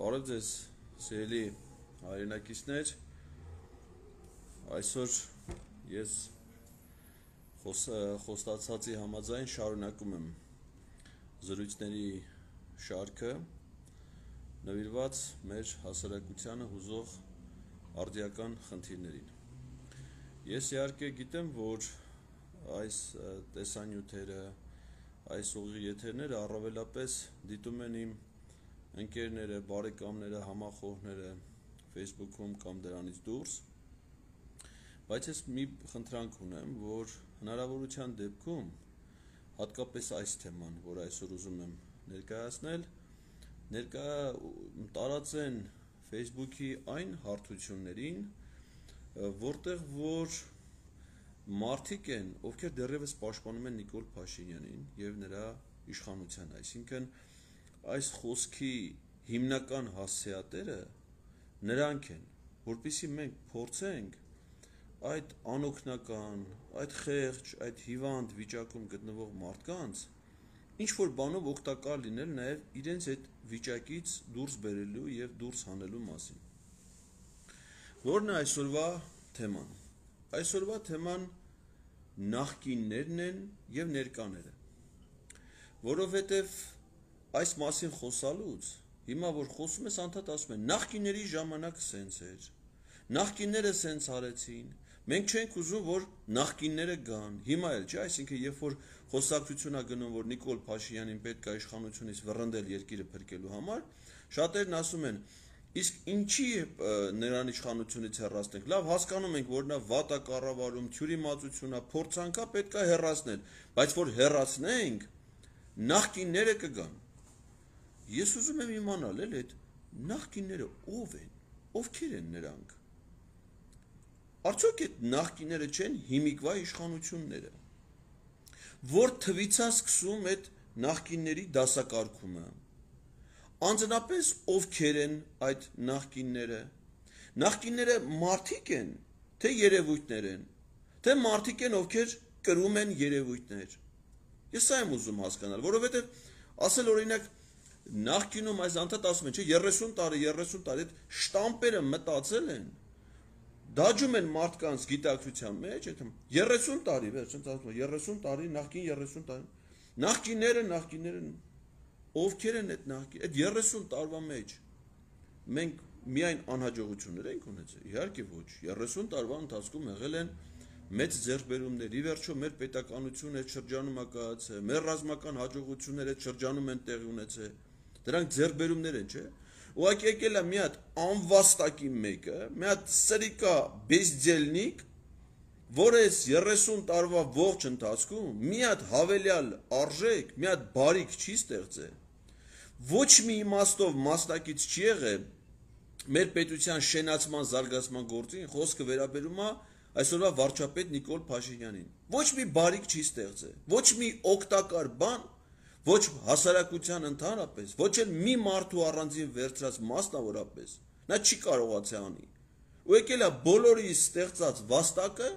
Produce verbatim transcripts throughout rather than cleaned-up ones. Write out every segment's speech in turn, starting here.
Բարև ձեզ, սիրելի հայրենակիցներ, այսօր ես խոստացածի համաձայն շարունակում եմ զրույցների շարքը նվիրված մեր հասարակությանը հուզող արդիական խնդիրներին։ Ես իհարկե գիտեմ, որ այս տեսանյութերը, այս ուղիղ եթերները առավելապես դիտում են իմ ընկերները, բարեկամները, համախոհները Facebook-ում կամ դրանից դուրս, բայց ես մի խնդրանք ունեմ, որ հնարավորության դեպքում, հատկապես այս թեման, որ այսօր ուզում եմ ներկայացնել, ներկա տարածեն Facebook-ի այն հարթություններին, որտեղ որ մարդիկ են, ովքեր դեռևս պաշտպանում են Նիկոլ Փաշինյանին եւ նրա իշխանության, այսինքն այս խոսքի հիմնական հասցեատերը նրանք են, որպեսզի մենք փորձենք այդ անօգնական, այդ խեղճ, այդ հիվանդ վիճակում գտնվող մարդկանց ինչ որ բանով օգտակար լինել նաև իրենց այդ վիճակից դուրս բերելու եւ դուրս հանելու մասին։ Որն է այսօրվա թեման։ Այսօրվա թեման նախկիններն են եւ ներկաները։ Որովհետեւ այս մասին խոսալուց հիմա որ խոսում ես անդադ ասում են նախկինների ժամանակ սենց էր, նախկինները սենց արեցին, մենք չենք ուզում որ նախկինները գան, հիմա էլ չէ, այսինքն երբ որ խոսակցությունա գնում որ Նիկոլ Փաշինյանին պետք է իշխանությունից վռնդել երկիրը փրկելու համար, շատերն ասում են իսկ ինչի նրան իշխանությունից հեռացնենք, լավ հասկանում ենք որ նա վատ է կառավարում, թյուրիմացություն է, փորձանքա պետք է հեռացնել, բայց որ հեռացնենք նախկինները կգան։ Ես ուզում եմ իմանալ էլ այդ նախկինները ով են, ովքեր են նրանք։ Արդյոք այդ նախկինները չեն հիմիկվա իշխանությունները, որ թվից է սկսում այդ նախկինների դասակարգումը։ Անձնապես ովքեր են այդ նախկինները։ Նախկինները մարդիկ են, թե երևույթներ են, թե մարդիկ են, ովքեր կրում են երևույթներ։ Ես սա եմ ուզում հասկանալ, որովհետև ասել օրինակ նախկինում այս անդադ ասում են, չէ, երեսուն տարի, երեսուն տարի այդ շտամպերը մտածել են, դաջում են մարդկանց գիտակցության մեջ, այդ երեսուն տարի, վերջ, երեսուն տարի, նախկին երեսուն տարի, նախկինները, նախկինները, ովքեր են այդ նախկին, այդ երեսուն տարվա մեջ մենք միայն անհաջողություններ ենք ունեցել, իհարկե ոչ, երեսուն տարվա ընթացքում եղել են մեծ ձեռքբերումներ, ի վերջո մեր պետականությունը այդ շրջանում է կայացել, մեր ռազմական հաջողությունները այդ շրջանում են տեղի ունեցել, դրանք ձեռքբերումներ են, չէ՞։ Ուղղակի եկել է մի հատ անվաստակի մեկը, մի հատ սրիկա բեզդելնիկ, որը այս երեսուն տարվա ողջ ընթացքում մի հատ հավելյալ արժեք, մի հատ բարիք չի ստեղծել, ոչ մի իմաստով մասնակից չի եղել մեր պետության շենացման զարգացման գործին, խոսքը վերաբերում է այսօրվա վարչապետ Նիկոլ Փաշինյանին։ Ոչ մի բարիք չի ստեղծել, ոչ մի օգտակար բան, ոչ հասարակության ընդհանրապես, ոչ էլ մի մարդու առանձին վերցրած մասնավորապես, նա չի կարողացել անի։ Ու եկել է բոլորի ստեղծած վաստակը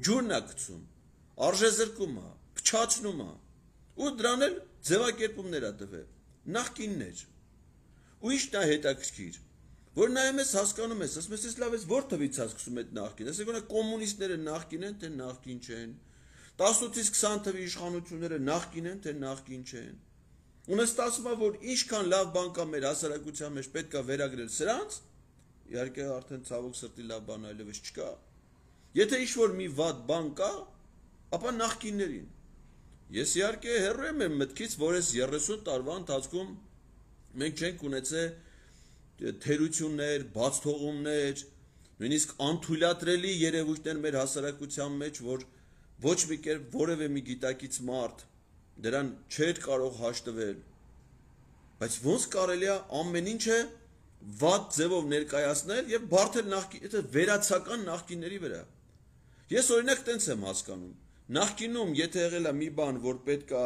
ջուրն է գցում, արժեզրկում է, փչացնում է, ու դրան էլ ձևակերպումներ է տվել, նախկիններ։ Ու ի՞նչն է հետաքրքիր, որ նայում ես հասկանում ես, ասում ես լավ ես որ թվից է սկսում այդ նախկին, ասեք որ կոմունիստները նախկին են, թե նախկին չեն, տասնութից քսան թվի իշխանությունները նախկին են, թե նախկին չեն։ Ու նստածում է որ ինչքան լավ բան կա մեր հասարակության մեջ պետք է վերագրել սրանց, իհարկե արդեն ցավոք սրտի լավ բան այլևս չկա։ Եթե ինչ-որ մի վատ բան կա, ապա նախկիններին։ Ես իհարկե հեռու եմ իմ մտքից, որ այս երեսուն տարվա ընթացքում մենք չենք ունեցել թերություններ, բացթողումներ, նույնիսկ անթույլատրելի երևույթներ մեր հասարակության մեջ, որ ոչ մի կերպ որևէ մի գիտակից մարդ դրան չէր կարող հաշտվել, բայց ոնց կարելի է ամեն ինչը վատ ձևով ներկայացնել եւ բարդել նախկին, վերացական նախկինների վրա։ Ես օրինակ տենց եմ հասկանում, նախկինում եթե եղել է մի բան, որ պետք է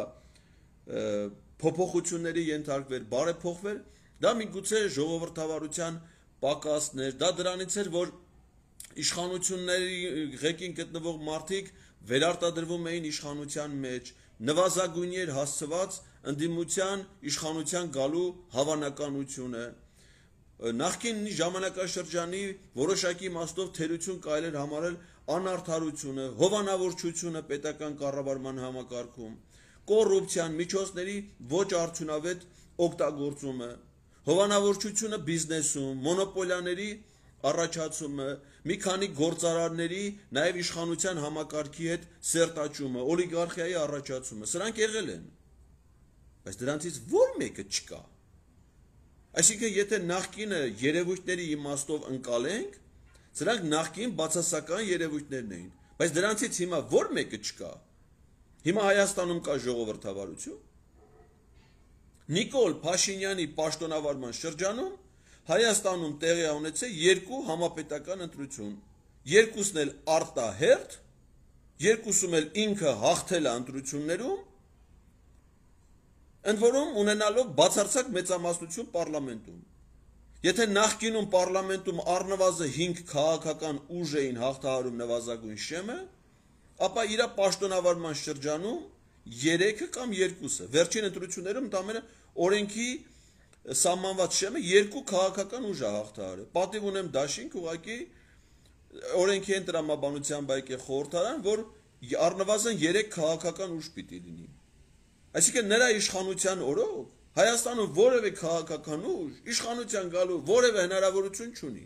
փոփոխությունների ենթարկվեր, բարեփոխվեր, դա միգուցե ժողովրդավարության պակասներ, դա դրանից էր, որ իշխանությունների ղեկին գտնվող մարդիկ վերարտադրվում էին իշխանության մեջ, նվազագույնի էր հասցված ընդդիմության իշխանության գալու հավանականությունը, նախկին ժամանակաշրջանի որոշակի իմաստով թերություն կարելի էր համարել անարդարությունը, հովանավորչությունը պետական կառավարման համակարգում, կոռուպցիան, միջոցների ոչ արդյունավետ օգտագործումը, հովանավորչությունը բիզնեսում, մոնոպոլիաների առաջացումը, մի քանի գործարարների նաև իշխանության համակարգի հետ սերտաճումը, օլիգարխիայի առաջացումը, սրանք եղել են, բայց դրանցից որ մեկը չկա։ Այսինքն, եթե նախկինը երևույթների իմաստով ընկալենք, սրանք նախկին բացասական երևույթներն էին, բայց դրանցից հիմա որ մեկը չկա։ Հիմա Հայաստանում կա ժողովրդավարություն։ Նիկոլ Փաշինյանի պաշտոնավարման շրջանում Հայաստանում տեղի է ունեցել երկու համապետական ընտրություն, երկուսն էլ արտահերթ, երկուսում էլ ինքը հաղթել է ընտրություններում, ընդ որում ունենալով բացարձակ մեծամասնություն պարլամենտում։ Եթե նախկինում պարլամենտում առնվազն հինգ քաղաքական ուժ էին հաղթահարում նվազագույն շեմը, ապա իր պաշտոնավարման շրջանում երեքը կամ երկուսը, վերջին ընտրություններում ընդամենը օրենքի սահմանված շեմը երկու քաղաքական ուժ է հաղթահարել։ Պատիվ ունեմ դաշինք, ուղղակի օրենքի են տրամաբանության բայկե խորհրդարան, որ առնվազն երեք քաղաքական ուժ պիտի լինի։ Այսինքն նրա իշխանության օրոք Հայաստանում որևէ քաղաքական ուժ իշխանության գալու որևէ հնարավորություն չունի։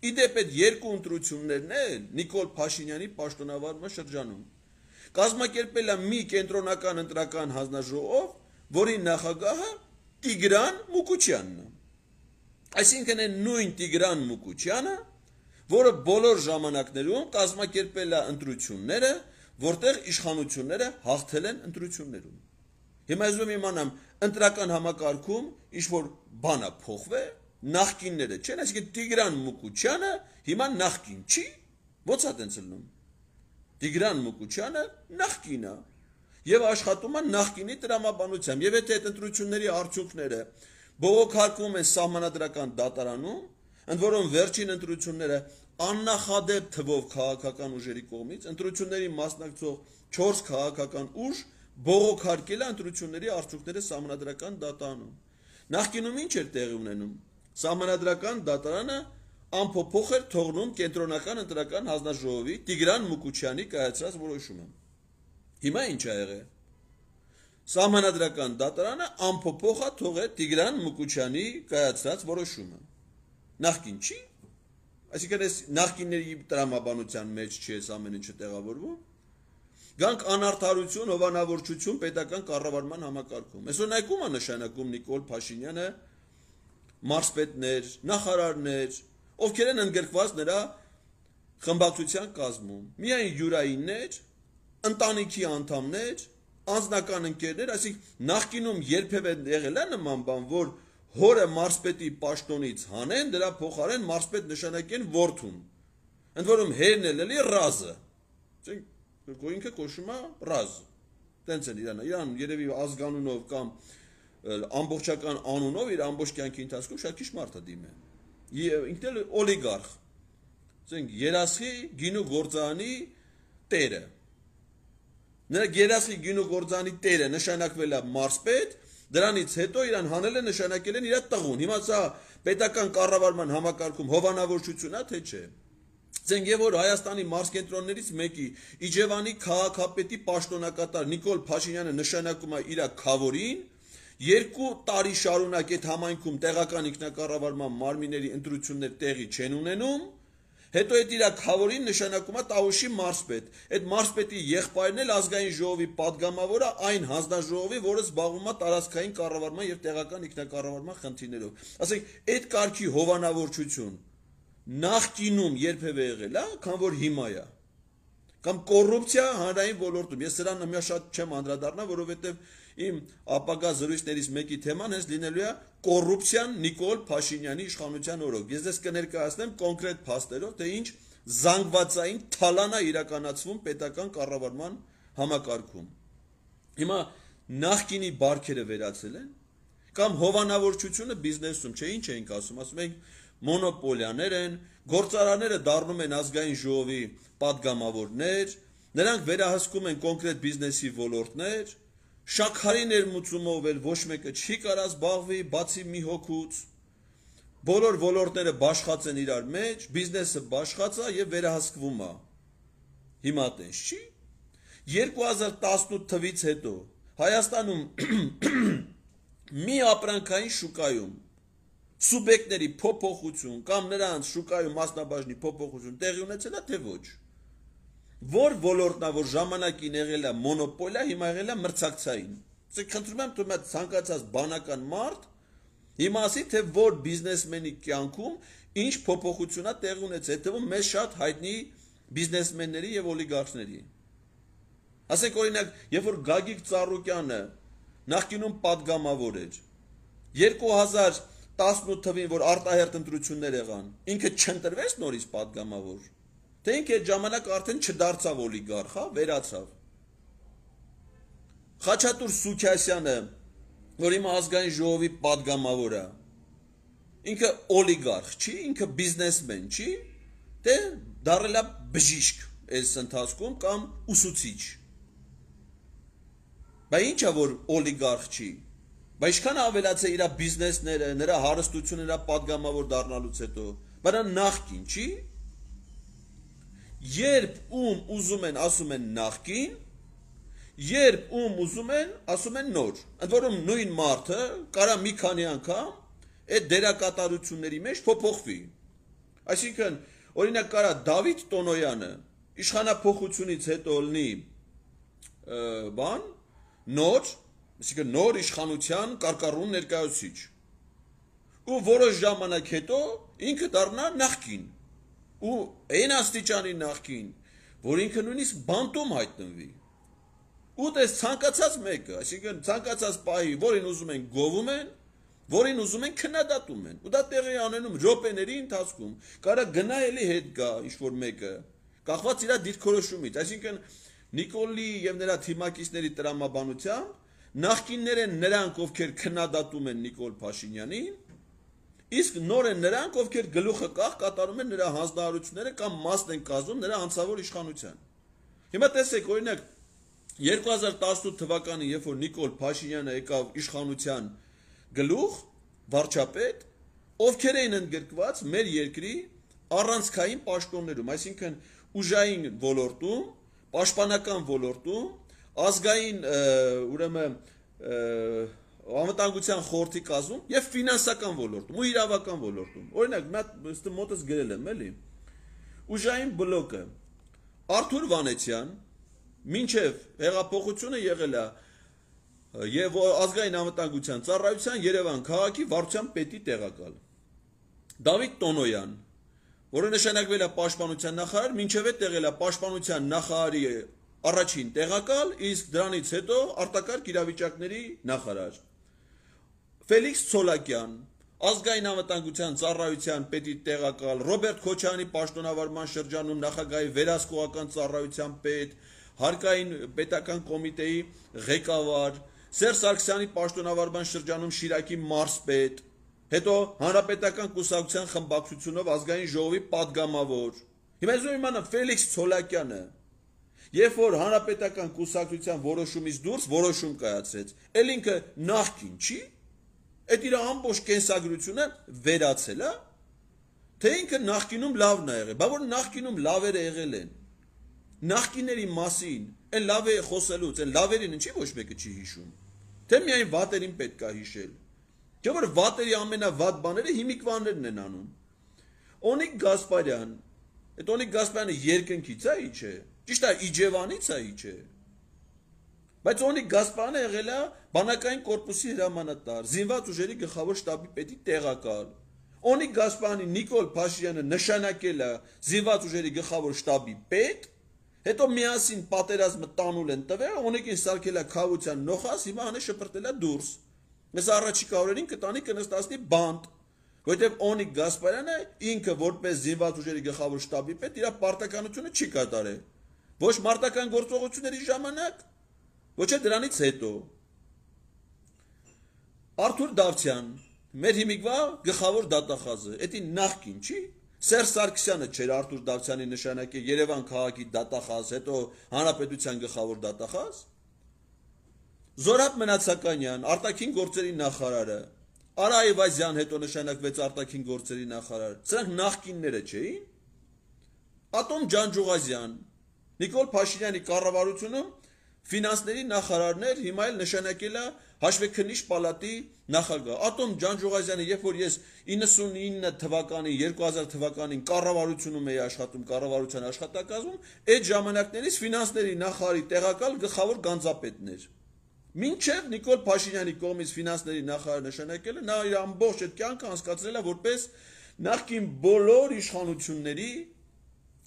Իդեպ այդ երկու ընտրություններն էլ Նիկոլ Փաշինյանի պաշտոնավարման շրջանում կազմակերպել է մի կենտրոնական ընտրական հանձնաժողով, որի նախագահը Տիգրան Մուկուչյանն է։ Այսինքն այն նույն Տիգրան Մուկուչյանը, որը բոլոր ժամանակներում կազմակերպել է ընտրությունները, որտեղ իշխանությունները հաղթել են ընտրություններում։ Հիմա ուզում եմ իմանամ, ընտրական համակարգում ինչ-որ բան է փոխվել, նախկինները չեն, այսինքն Տիգրան Մուկուչյանը հիմա նախկին չի, ո՞նց է տենց լինում։ Տիգրան Մուկուչյանը նախկին է եւ աշխատում է նախկինի տրամաբանությամբ, եւ եթե այդ ընտրությունների արդյունքները բողոքարկվում են սահմանադրական դատարանում, ընդ որում վերջին ընտրությունները աննախադեպ թվով քաղաքական ուժերի կողմից ընտրությունների մասնակցող չորս քաղաքական ուժ բողոքարկել է ընտրությունների արդյունքները սահմանադրական դատարանում։ Նախկինում ինչ էր տեղի ունենում։ Սահմանադրական դատարանը անփոփոխ էր թողնում կենտրոնական ընտրական հանձնաժողովի Տիգրան Մուկուչյանի կայացրած որոշումը։ Հիմա ինչ ա եղել։ Սահմանադրական դատարանը անփոփոխ է թողել Տիգրան Մուկուչյանի կայացրած որոշումը։ Նախկին չի։ Այսինքն այս նախկինների տրամաբանության մեջ չի այս ամեն ինչը տեղավորվում։ Գանք անարդարություն, հովանավորչություն պետական կառավարման համակարգում։ Այսօր նայեք ում է նշանակում Նիկոլ Փաշինյանը, մարզպետներ, նախարարներ, ովքեր են ընդգրկված նրա խմբակցության կազմում։ Միայն յուրայիններ, ընտանիքի անդամներ, անձնական ընկերներ, այսինքն նախկինում երբևէ եղել է նման բան, որ հորը մարզպետի պաշտոնից հանեն, դրա փոխարեն մարզպետ նշանակեն որդուն։ Ընդ որում հերն էլ էլի ռազը։ Ինքը կոչվում է ռազ։ Տենց են իրան, իրան երևի ազգանունով կամ ամբողջական անունով իր ամբողջ կյանքի ընթացքում շատ քիչ մարդ է դիմել։ Ինքն էլ օլիգարխ։ Ասենք երասխի գինու գործարանի տերը։ Նրա երասխի գինու գործարանի տերը նշանակվել է մարզպետ, դրանից հետո իրան հանել է նշանակել են իր տղուն։ Հիմա սա պետական կառավարման համակարգում հովանավորչություն է, թե չէ։ Ցենք եւ որ Հայաստանի մարզկենտրոններից մեկի Իջևանի քաղաքապետի պաշտոնակատար Նիկոլ Փաշինյանը նշանակում է իր քավորին, երկու տարի շարունակ այդ համայնքում տեղական ինքնակառավարման մարմինների ընտրություններ տեղի չեն ունենում, հետո այդ իր քավորին նշանակում է Տավուշի մարզպետ։ Այդ մարզպետի եղբայրն էլ ազգային ժողովի падգամավորը այն հանձնաժողովի, որը զբաղվում է տարածքային կառավարման եւ տեղական ինքնակառավարման խնդիրներով։ Ասենք այդ կարգի հովանավորչություն նախկինում երբևէ եղել է, քան որ հիմա է։ Կամ կոռուպցիա հանրային ոլորտում։ Ես սրան նույնիսկ շատ չեմ անդրադառնա, որովհետեւ իմ ապագա զրույցներից մեկի թեման հենց լինելու է կոռուպցիան Նիկոլ Փաշինյանի իշխանության օրոք։ Ես դες կներկայացնեմ կոնկրետ փաստերով, թե ինչ զանգվածային թալան է իրականացվում պետական կառավարման համակարգում։ Հիմա նախկինի բարքերը վերացել են, կամ հովանավորչությունը բիզնեսում, չէ, ինչ էինք ասում, ասում ենք մոնոպոլիաներ են, գործարանները դառնում են ազգային ժողովի падգամավորներ, նրանք վերահսկում են կոնկրետ բիզնեսի ոլորտներ, շաքարի ներմուծումով էլ ոչ մեկը չի կարա զբաղվի, բացի մի հոգուց, բոլոր ոլորտները բաշխած են իրար մեջ, բիզնեսը բաշխած է եւ վերահսկվում է։ Հիմա տես չի։ երկու հազար տասնութ թվից հետո Հայաստանում մի ապրանքային շուկայում սուբյեկտների փոփոխություն կամ նրանց շուկայում մասնաբաժնի փոփոխություն տեղի ունեցել է թե ոչ։ Որ ոլորտն է, որ ժամանակին եղել է մոնոպոլիա, հիմա եղել է մրցակցային։ Իսկ խնդրում եմ դու մեծ ցանկացած բանական մարդ հիմա ասի թե որ բիզնեսմենի կյանքում ինչ փոփոխություն է տեղի ունեցել, հետևում մեզ շատ հայտնի բիզնեսմենների եւ օլիգարխների։ Ասենք օրինակ, երբ որ Գագիկ Ծառուկյանը նախկինում падգամավոր էր, երկու հազար տասնութ թվին, որ արտահերտ ընտրություններ եղան, ինքը չընտրվեց նորից падգամավոր, թե ինքը այդ ժամանակ արդեն չդարձավ օլիգարխ, հա, վերացավ։ Խաչատուր Սուքիասյանը, որ հիմա ազգային ժողովի падգամավոր է, ինքը օլիգարխ չի, ինքը բիզնեսմեն չի, թե դառել է բժիշկ այս ընթացքում կամ ուսուցիչ։ Բայց ինչա որ օլիգարխ չի, բայց ինչքան ավելացել իր բիզնեսները, նրա հարստությունը, նրա падգամավոր դառնալուց հետո, բայց նա նախկին չի։ Երբ ում ուզում են ասում են նախկին, երբ ում ուզում են ասում են նոր։ Ընդ որում նույն մարդը կարա մի քանի անգամ այդ դերակատարությունների մեջ փոփոխվի։ Այսինքն, օրինակ կարա Դավիթ Տոնոյանը իշխանափոխությունից հետո լինի բան, նոր, այսինքն նոր իշխանության կարկառուն ներկայացուցիչ։ Ու որոշ ժամանակ հետո ինքը դառնա նախկին։ Ու այն աստիճանի նախկին, որ ինքը նույնիսկ բանտում հայտնվի։ Ու դες ցանկացած մեկը, այսինքն ցանկացած պահի, որին ուզում են գովում են, որին ուզում են քննադատում են։ Ու դա տեղի անենում րոպեների ընթացքում, կարա գնա էլի հետ գա ինչ-որ մեկը, կախված իր դիրքորոշումից, այսինքն Նիկոլի եւ նրա թիմակիցների տրամաբանությամբ նախկիններ են նրանք, ովքեր քննադատում են Նիկոլ Փաշինյանին, իսկ նոր են նրանք, ովքեր գլուխը կախ կատարում են նրա հանձնարարությունները կամ մասն են կազմում նրա անձնավոր իշխանության։ Հիմա տեսեք, օրինակ երկու հազար տասնութ թվականին, երբ որ Նիկոլ Փաշինյանը եկավ իշխանության գլուխ, վարչապետ, ովքեր էին ընդգրկված մեր երկրի առանցքային պաշտոններում, այսինքն ուժային ոլորտում, պաշտպանական ոլորտում, ազգային ուրեմն անվտանգության խորհրդի կազմում եւ ֆինանսական ոլորտում ու իրավական ոլորտում։ Օրինակ, մա մոտս գրել եմ, էլի։ Ուժային բլոկը Արթուր Վանեցյան մինչև հեղափոխությունը եղել է եւ ազգային անվտանգության ծառայության Երևան քաղաքի վարչության պետի տեղակալ։ Դավիթ Տոնոյան, որը նշանակվել է պաշտպանության նախարար, մինչև այդ եղել է պաշտպանության նախարարի առաջին տեղակալ, իսկ դրանից հետո արտակարգ իրավիճակների նախարար։ Ֆելիքս Ցոլակյան, ազգային անվտանգության ծառայության պետի տեղակալ, Ռոբերտ Քոչարյանի պաշտոնավարման շրջանում նախագահի վերահսկողական ծառայության պետ, հարկային պետական կոմիտեի ղեկավար, Սերժ Սարգսյանի պաշտոնավարման շրջանում Շիրակի մարզպետ, հետո հանրապետական կուսակցության խմբակցությունով ազգային ժողովի падգամավոր։ Հիմա ես իմանամ Ֆելիքս Ցոլակյանը, երբ որ հանրապետական կուսակցության որոշումից դուրս որոշում կայացրեց, ել ինքը նախկին չի, այդ իր ամբողջ կենսագրությունը վերացել է, թե ինքը նախկինում լավն է եղել, բա որ նախկինում լավերը եղել են։ Նախկիների մասին, այն լավ է խոսելուց, այն լավերին ինչի ոչ մեկը չի հիշում, թե միայն վատերին պետք է հիշել։ Չէ՞ որ վատերի ամենավատ բաները հիմիկվաներն են անում։ Օնիկ Գասպարյան, այդ Օնիկ Գասպարյանը երկնքից է, ի՞նչ է։ Ճիշտ է, Իջևանից է, ի՞նչ է։ Բայց Օնիկ Գասպարյանը եղել է բանակային կորպուսի հրամանատար, զինված ուժերի գլխավոր շտաբի պետի տեղակալ։ Օնիկ Գասպարյանի Նիկոլ Փաշինյանը նշանակել է զինված ուժերի գլխավոր շտաբի պետ, հետո միասին պատերազմը տանուլ են տվել, Օնիկին սարքել է խաղության նոխաս, հիմա հանը շպրտել է դուրս։ Ես առաջիկա օրերին կտանի կնստացնի բանտ, որովհետև Օնիկ Գասպարյանը ինքը որպես զինված ուժերի գլխավոր շտաբի պետ իր պարտականությունը չի կատարել։ Ոչ մարտական գործողությունների ժամանակ, ոչ էլ դրանից հետո։ Արթուր Դավթյան, մեր հիմիկվա գլխավոր դատախազը, դա նախկին չի։ Սերժ Սարգսյանը չէր Արթուր Դավթյանի նշանակել Երևան քաղաքի դատախազ, հետո հանրապետության գլխավոր դատախազ։ Զորաբ Մնացականյան, արտաքին գործերի նախարարը, Արա Այվազյան հետո նշանակվեց արտաքին գործերի նախարար։ Սրանք նախկինները չէին։ Ատոմ Ջանջուղազյան, Նիկոլ Փաշինյանի կառավարությունում ֆինանսների նախարարներ, հիմա էլ նշանակել է հաշվեկնիչ պալատի նախագահ։ Ատոմ Ջանջուղազյանը, երբ որ ես իննսունինը թվականին, երկու հազար թվականին կառավարությունում էի աշխատում, կառավարության աշխատակազմում, այդ ժամանակներից ֆինանսների նախարարի տեղակալ գլխավոր գանձապետն էր։ Մինչև Նիկոլ Փաշինյանի կողմից ֆինանսների նախարար նշանակելը, նա իր ամբողջ այդ կյանքը անցկացրել է որպես նախկին բոլոր իշխանությունների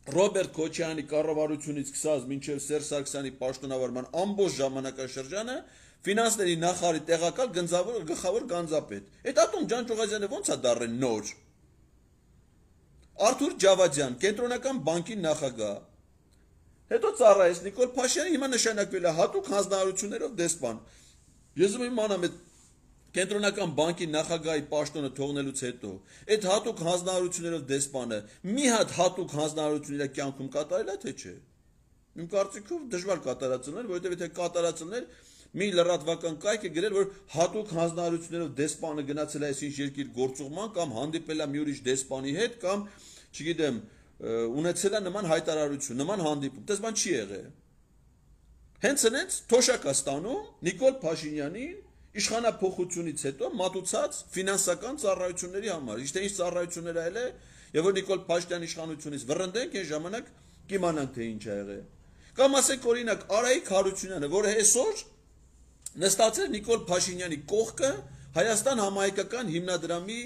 Ռոբերտ Քոչարյանի կառավարությունից սկսած մինչև Սերժ Սարգսյանի պաշտոնավարման ամբողջ ժամանակաշրջանը ֆինանսների նախարարի տեղակալ գլխավոր գանձապետ։ Այդ Ատոմ Ջանջուղազյանը ո՞նց է դառել նոր։ Արթուր Ջավադյան, Կենտրոնական բանկի նախագահ։ Հետո ծառայեց Նիկոլ Փաշինյանը, հիմա նշանակվել է հատուկ հանձնարարություններով դեսպան։ Ես ուզում եմ իմանամ այդ Կենտրոնական բանկի նախագահի պաշտոնը թողնելուց հետո այդ հատուկ հանձնարարություններով դեսպանը մի հատ հատուկ հանձնարարություն իր կյանքում կատարել է թե չէ։ Իմ կարծիքով դժվար կատարածներ, որովհետև եթե կատարածներ մի լրատվական կայք է գրել, որ հատուկ հանձնարարություններով դեսպանը գնացել է այսինչ երկիր գործուղման կամ հանդիպել է մի ուրիշ դեսպանի հետ կամ, չգիտեմ, ունեցել է նման հայտարարություն, նման հանդիպում, դες բան չի եղել։ Հենց այնց թոշակ է ստանում Նիկոլ Փաշինյանին իշխանափոխությունից հետո մատուցած ֆինանսական ծառայությունների համար։ Իսկ թե ինչ ծառայություններ այլ է, եւ որ Նիկոլ Փաշինյանի իշխանությունից վռնդենք, այն ժամանակ կիմանանք թե ինչ է եղել։ Կամ ասենք օրինակ Արայիկ Հարությունյանը, որը այսօր նստած է Նիկոլ Փաշինյանի կողքը Հայաստան համահայկական հիմնադրամի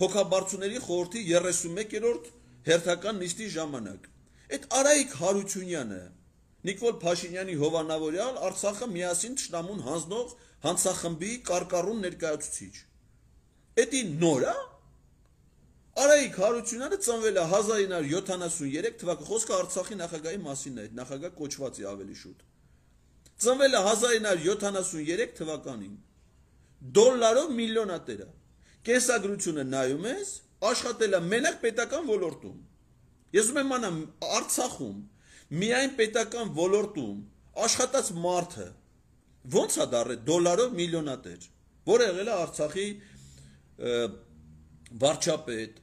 հոգաբարձուների խորհրդի երեսունմեկերորդ հերթական նիստի ժամանակ։ Այդ Արայիկ Հարությունյանը Նիկոլ Փաշինյանի հովանավորյալ Արցախը միասին թշնամուն հանձնող հանցախմբի կարկառուն ներկայացուցիչ։ Էդի նոր է։ Արայիկ Հարությունյանը ծնվել է հազար ինը հարյուր յոթանասուներեք թվականի, խոսքը Արցախի նախագահի մասին է, նախագահ կոչված է ավելի շուտ։ Ծնվել է հազար ինը հարյուր յոթանասուներեք թվականին։ Դոլարով միլիոնատեր է։ Կենսագրությունը նայում ես, աշխատել է մենակ պետական ոլորտում։ Ես ուզում եմ իմանամ Արցախում միայն պետական ոլորտում աշխատած մարդը ո՞նց է դառել դոլարով միլիոնատեր, որը եղել է Արցախի վարչապետ,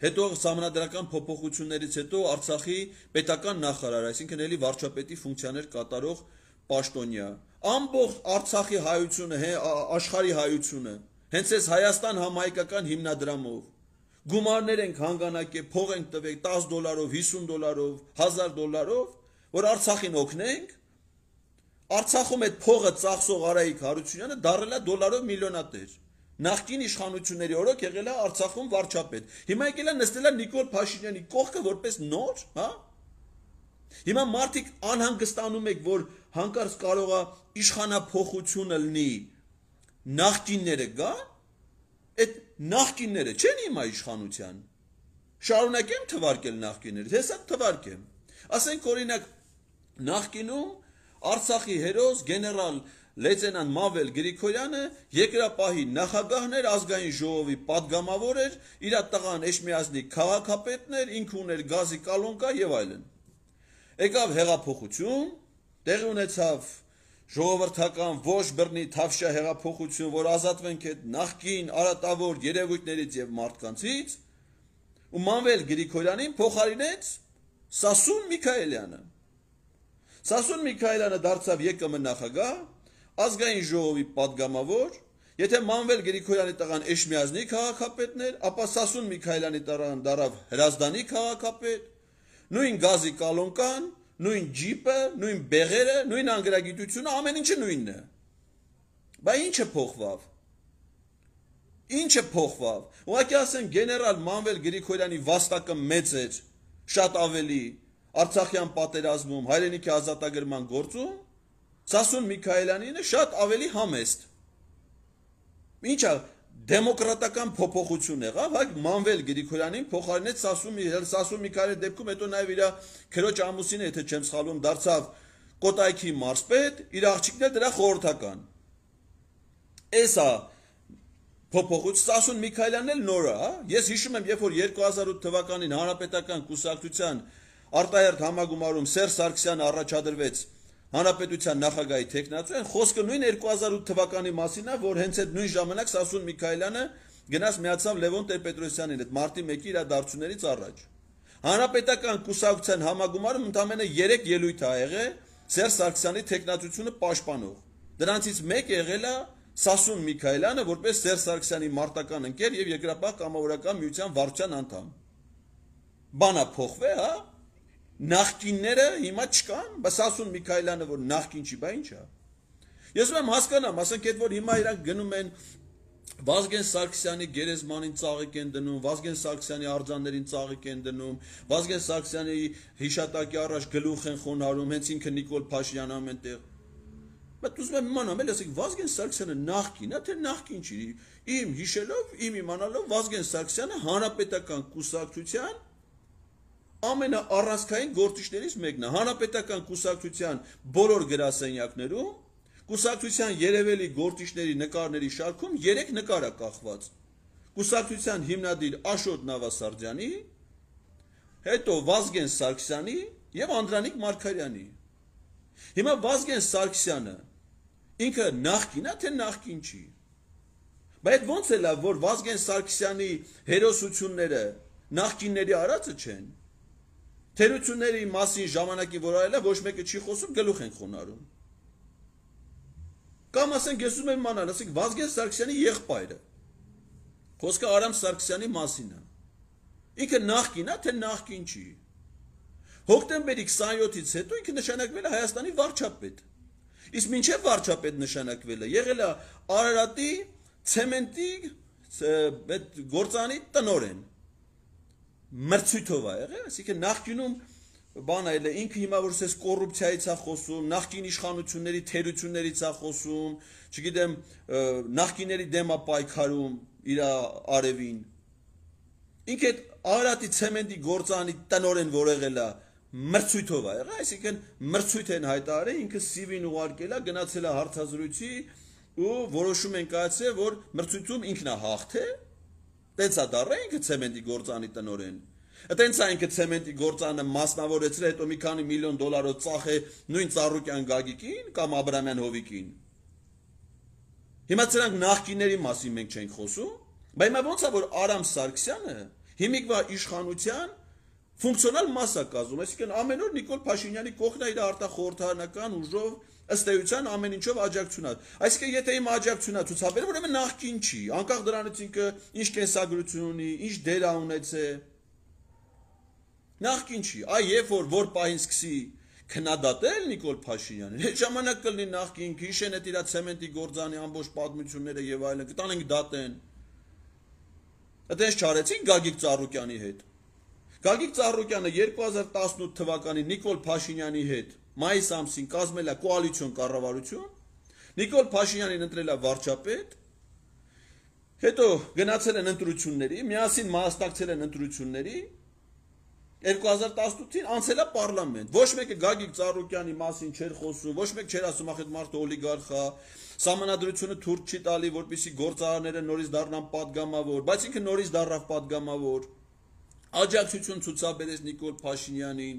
հետո սահմանադրական փոփոխություններից հետո Արցախի պետական նախարար, այսինքն էլի վարչապետի ֆունկցիաներ կատարող պաշտոնյա, ամբողջ Արցախի հայությունը, աշխարհի հայությունը, հենց այս Հայաստան համահայկական հիմնադրամով գումարներ ենք հանգանակել, փող ենք տվել տասը դոլարով, հիսուն դոլարով, հազար դոլարով, որ Արցախին օգնենք։ Արցախում այդ փողը ծախսող Արայիկ Հարությունյանը դառել է դոլարով միլիոնատեր։ Նախկին իշխանությունների օրոք եղել է Արցախում վարչապետ։ Հիմա եկել է նստել է Նիկոլ Փաշինյանի կողքը որպես նոր, հա։ Հիմա մարդիկ անհանգստանում եք, որ հանկարծ կարող է իշխանափոխությունը լինի, նախկինները գա։ Այդ նախկինները չեն հիմա իշխանության։ Շարունակեմ թվարկել նախկինները, հեսա թվարկեմ։ Ասենք օրինակ նախկինում Արցախի հերոս գեներալ լեյտենանտ Մավել Գրիգորյանը երկրապահի նախագահն էր, ազգային ժողովի պատգամավոր էր, իր տղան Էշմիածնի քաղաքապետն էր, ինքը ուներ գազի կալոնկա եւ այլն։ Եկավ հեղափոխություն, տեղի ունեցավ ժողովրդական ոչ բռնի թավշյա հեղափոխություն, որ ազատվենք այդ նախկին արատավոր երևույթներից եւ մարդկանցից, ու Մանվել Գրիգորյանին փոխարինեց Սասուն Միքայելյանը։ Սասուն Միքայելյանը դարձավ ԵԿՄ նախագահ, ազգային ժողովի պատգամավոր, եթե Մանվել Գրիգորյանի տղան Էշմիածնի քաղաքապետն էր, ապա Սասուն Միքայելյանի տղան դարավ Հրազդանի քաղաքապետ, նույն գազի կալոնկան, նույն ջիպը, նույն բեղերը, նույն անգրագիտությունը, ամեն ինչը նույնն է։ Բա ինչը փոխվավ։ Ինչը փոխվավ։ Ուղղակի ասեմ գեներալ Մանվել Գրիգորյանի վաստակը մեծ էր, շատ ավելի Արցախյան պատերազմում, հայրենիքի ազատագրման գործում, Սասուն Միքայելյանինը շատ ավելի համեստ։ Ինչա դեմոկրատական փոփոխություն եղավ, հա Մանվել Գրիգորյանին փոխարինեց Սասուն Սասուն Միքայելյանի դեպքում, հետո նաև իր քրոջ ամուսինը, եթե չեմ սխալվում, դարձավ Կոտայքի մարզպետ, իր աղջիկն դրա խորհրդական։ Էսա փոփոխություն Սասուն Միքայելյանն էլ նոր է, հա։ Ես հիշում եմ, երբ որ երկու հազար ութ թվականին Հանրապետական կուսակցության արտահերթ համագումարում Սերժ Սարգսյանը առաջադրվեց Հանրապետության նախագահի թեկնածու, խոսքը նույն երկու հազար ութ թվականի մասին է, որ հենց այդ նույն ժամանակ Սասուն Միքայելյանը գնաց միացավ Լևոն Տեր-Պետրոսյանին այդ մարտի մեկի իրադարձություններից առաջ։ Հանրապետական կուսակցության համագումարում ընդամենը երեք ելույթ ա եղել Սերժ Սարգսյանի տեխնատությունը պաշտպանող։ Դրանցից մեկը եղել է Սասուն Միքայելյանը, որպես Սերժ Սարգսյանի մարտական ընկեր եւ Երկրապահ կամավորական միության վարչության անդամ։ Բանա փոխվե, հա։ Նախկինները հիմա չկան, բայց Սասուն Միքայելյանը որ նախկին չի, բա ինչ է։ Ես ուրեմն հասկանամ, ասենք այդ որ հիմա իրանք գնում են Վազգեն Սարգսյանի գերեզմանին ծաղիկ են դնում, Վազգեն Սարգսյանի արձաններին ծաղիկ են դնում, Վազգեն Սարգսյանի հիշատակի առաջ գլուխ են խոնարհում, հենց ինքը Նիկոլ Փաշինյանն ամենտեղ։ Բայց ուզում եմ իմանամ, էլ ասեք Վազգեն Սարգսյանը նախկին է, թե նախկին չի։ Իմ հիշելով, իմ իմանալով Վազգեն Սարգսյանը հանրապետական կուսակցության ամենաառանցքային գործիչներից մեկն է։ Հանրապետական կուսակցության բոլոր գրասենյակներում Կուսակցության երևելի գործիչների նկարների շարքում երեք նկար է կախված։ Կուսակցության հիմնադիր Աշոտ Նավասարդյանի, հետո Վազգեն Սարգսյանի եւ Անդրանիկ Մարգարյանի։ Հիմա Վազգեն Սարգսյանը ինքը նախկին է, թե նախկին չի։ Բայց ոնց է լավ, որ Վազգեն Սարգսյանի հերոսությունները նախկինների արածը չեն։ Թերությունների մասին ժամանակի որ արել է, ոչ մեկը չի խոսում, գլուխ են խոնարհում։ Կամ ասենք ես ուզում եմ իմանալ, ասենք Վազգեն Սարգսյանի եղբայրը։ Խոսքը Արամ Սարգսյանի մասին է։ Ինքը նախկին է, թե նախկին չի։ Հոկտեմբերի քսաներորդ-ից հետո ինքը նշանակվել է Հայաստանի վարչապետ։ Իսկ մինչև վարչապետ նշանակվել է, եղել է Արարատի ցեմենտի այդ գործանի տնօրեն։ Մրցույթով է եղել, այսինքն նախկինում բան այլ է, ինքը հիմա որ ասես կոռուպցիայից է խոսում, նախկին իշխանությունների թերություններից է խոսում, չգիտեմ, նախկիների դեմ է պայքարում իր արևին։ Ինքը այդ Արարատի ցեմենտի գործանի տնօրեն որ եղել է, մրցույթով է եղել, այսինքն մրցույթ են հայտարարել, ինքը սիվին ուղարկել է, գնացել է հարցազրույցի ու որոշում են կայացրել, որ մրցույթում ինքն է հաղթել, տենց է դառել ինքը ցեմենտի գործանի տնօրեն։ Այդտենց է ինքը ցեմենտի գործանը մասնավորեցրել, հետո մի քանի միլիոն դոլարով ծախե նույն Ծառուկյան Գագիկին կամ Աբրամյան Հովիկին։ Հիմա ցրանք նախկինների մասին մենք չենք խոսում, բայց հիմա ոնց է որ Արամ Սարգսյանը հիմիկվա իշխանության ֆունկցիոնալ մաս է կազմում, այսինքն ամեն օր Նիկոլ Փաշինյանի կողքն է իր արտախորհրդարանական ուժով ըստ էության ամեն ինչով աջակցություն է։ Այսինքն եթե իմ աջակցությունը ցուցաբերել, ուրեմն նախկին չի, անկախ դրանից ինքը ինչ կենսագրություն ունի, ինչ դեր է ունեցել։ Նախկին չի, այ երբ որ որ պահին սկսի քննադատել Նիկոլ Փաշինյանին, այդ ժամանակ կլինի նախկին, հիշեն այդ իր ցեմենտի գործանի ամբողջ պատմությունները եւ այլն, կտանենք դատեն։ Այդպես չարեցին Գագիկ Ծառուկյանի հետ։ Գագիկ Ծառուկյանը երկու հազար տասնութ թվականին Նիկոլ Փաշինյանի հետ մայիս ամսին կազմել է կոալիցիոն կառավարություն, Նիկոլ Փաշինյանին ընտրել է վարչապետ, հետո գնացել են ընտրությունների, միասին մասնակցել են ընտրությունների երկու հազար տասնութին անցել է պարլամենտ։ Ոչ մեկը Գագիկ Ծառուկյանի մասին չէր խոսում, ոչ մեկ չէր ասում ախ այդ մարդը օլիգարխ է, սահմանադրությունը թուրք չի տալի, որպեսզի գործարանները նորից դառնան падգամավոր, բայց ինքը նորից դառավ падգամավոր։ Աջակցություն ցուցաբերեց Նիկոլ Փաշինյանին։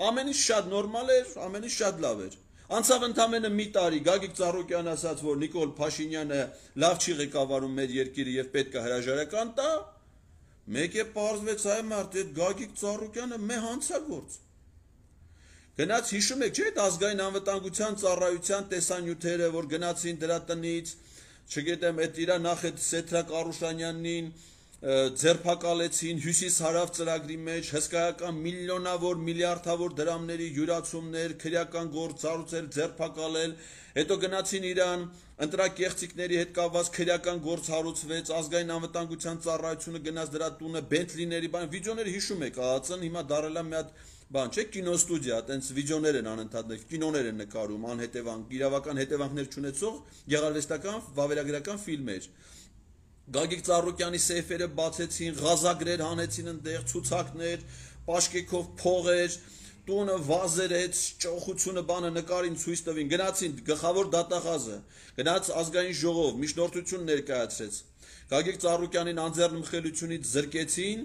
Ամեն ինչ շատ նորմալ էր, ամեն ինչ շատ լավ էր։ Անցավ ընդամենը մի տարի, Գագիկ Ծառուկյանը ասաց, որ Նիկոլ Փաշինյանը լավ չի ղեկավարում մեր երկիրը եւ պետք է հրաժարական տա։ Մեկ է պարզվեց այ մարդ, այդ Գագիկ Ծառուկյանը մե հանցագործ։ Գնաց հիշում եք, չէ՞, այդ ազգային անվտանգության ծառայության տեսանյութերը, որ գնացին դրա տնից, չգիտեմ, այդ իրա նախ այդ Սեթրակ Արուշանյանին ձերբակալեցին հյուսիս-հարավ ծրագրի մեջ, հսկայական միլիոնավոր, միլիարդավոր դրամների յուրացումներ, քրեական գործ ծառուցել, ձերբակալել, հետո գնացին Իրան, ընտրակեղծիքների հետ կապված քրեական գործ հարուցվեց, ազգային անվտանգության ծառայությունը գնաց դրա տունը, Բենթլիների բան, վիդեոները հիշում եք, ԱԱՑ-ն հիմա դարել է մի հատ բան, չէ, կինոստուդիա, այտենց վիդեոներ են անընդհատ, կինոներ են նկարում, անհետևանք, իրավական հետևանքներ չունեցող գեղարվեստական, վավերագրական ֆիլմեր։ Գագիկ Ծառուկյանի սեյֆերը բացեցին, ղազագրեր հանեցին այնտեղ, ցուցակներ, պաշկեքով փողեր, տունը վազերեց, ճոխությունը բանը նկարին ցույց տվին, գնացին գլխավոր դատախազը, գնաց ազգային ժողով, միջնորդություն ներկայացրեց։ Գագիկ Ծառուկյանին անձեռնմխելիությունից զրկեցին,